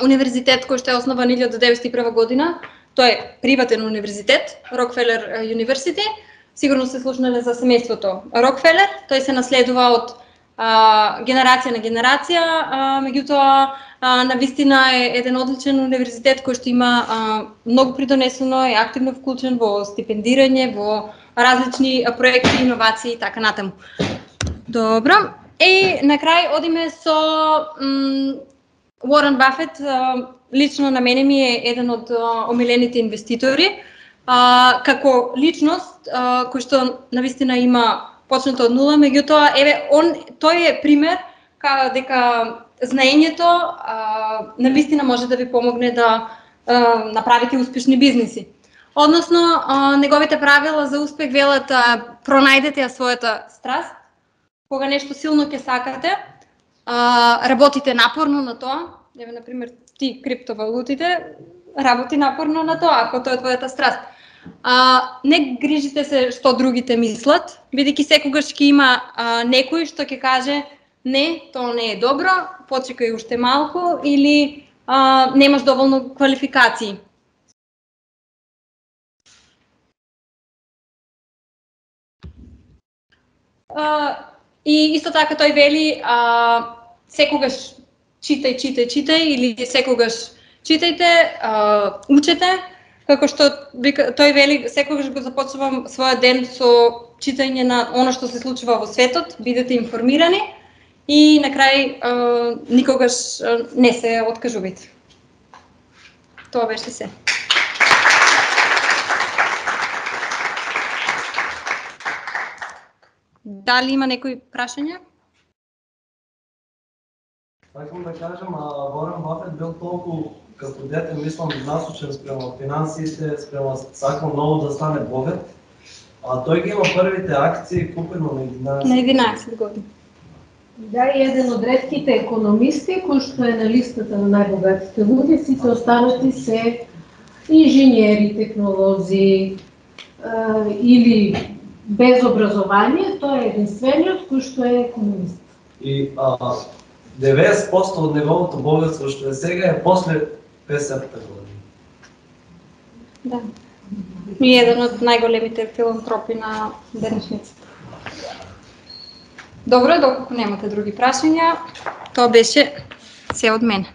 универзитет кој што е основан 1901 година, тој е приватен универзитет, Rockefeller University. Сигурно се слушнале за семејството Rockefeller, тој се наследува од генерација на генерација, меѓутоа навистина е еден одличен универзитет кој што има многу придонесено и активно вклучен во стипендирање, во различни проекти, иновации и така натаму. Добро. И на крај одиме со Уорен Бафет. Лично на мене ми е еден од омилените инвеститори. Како личност кој што навистина има почнато од нула, меѓутоа тој е пример дека знаењето навистина може да ви помогне да направите успешни бизниси. Односно, неговите правила за успех велат пронајдете ја својата страст, кога нешто силно ќе сакате, работите напорно на тоа. Еве, например, ти криптовалутите, работи напорно на тоа, ако тоа е твојата страст. Не грижите се што другите мислат, бидејќи секогаш ќе има некој што ќе каже не, тоа не е добро, почекај уште малку или немаш доволно квалификации. И исто така тој вели секогаш читај или секогаш читајте, учете, како што тој вели секогаш го започнувам својот ден со читање на она што се случува во светот, бидете информирани и на крај никогаш не се откажувате. Тоа беше се. Дали има некои прашања? Сакам да кажам, Уорен Бафет бил толку като дете, мислам, насочен спрема финансиите, спрема сакал много да стане богат. Тој ги има првите акции купено на 11 години. Да, и еден од ретките економисти кој што е на листата на најбогатите луѓе, сите останати се инженери, технолози или без образование, тој е единствениот кој што е економист. И 90% од неговото богатство што е сега е после 50-та година. Да. И еден од најголемите филантропи на денешницата. Добро, доколку немате други прашања, тоа беше се од мене.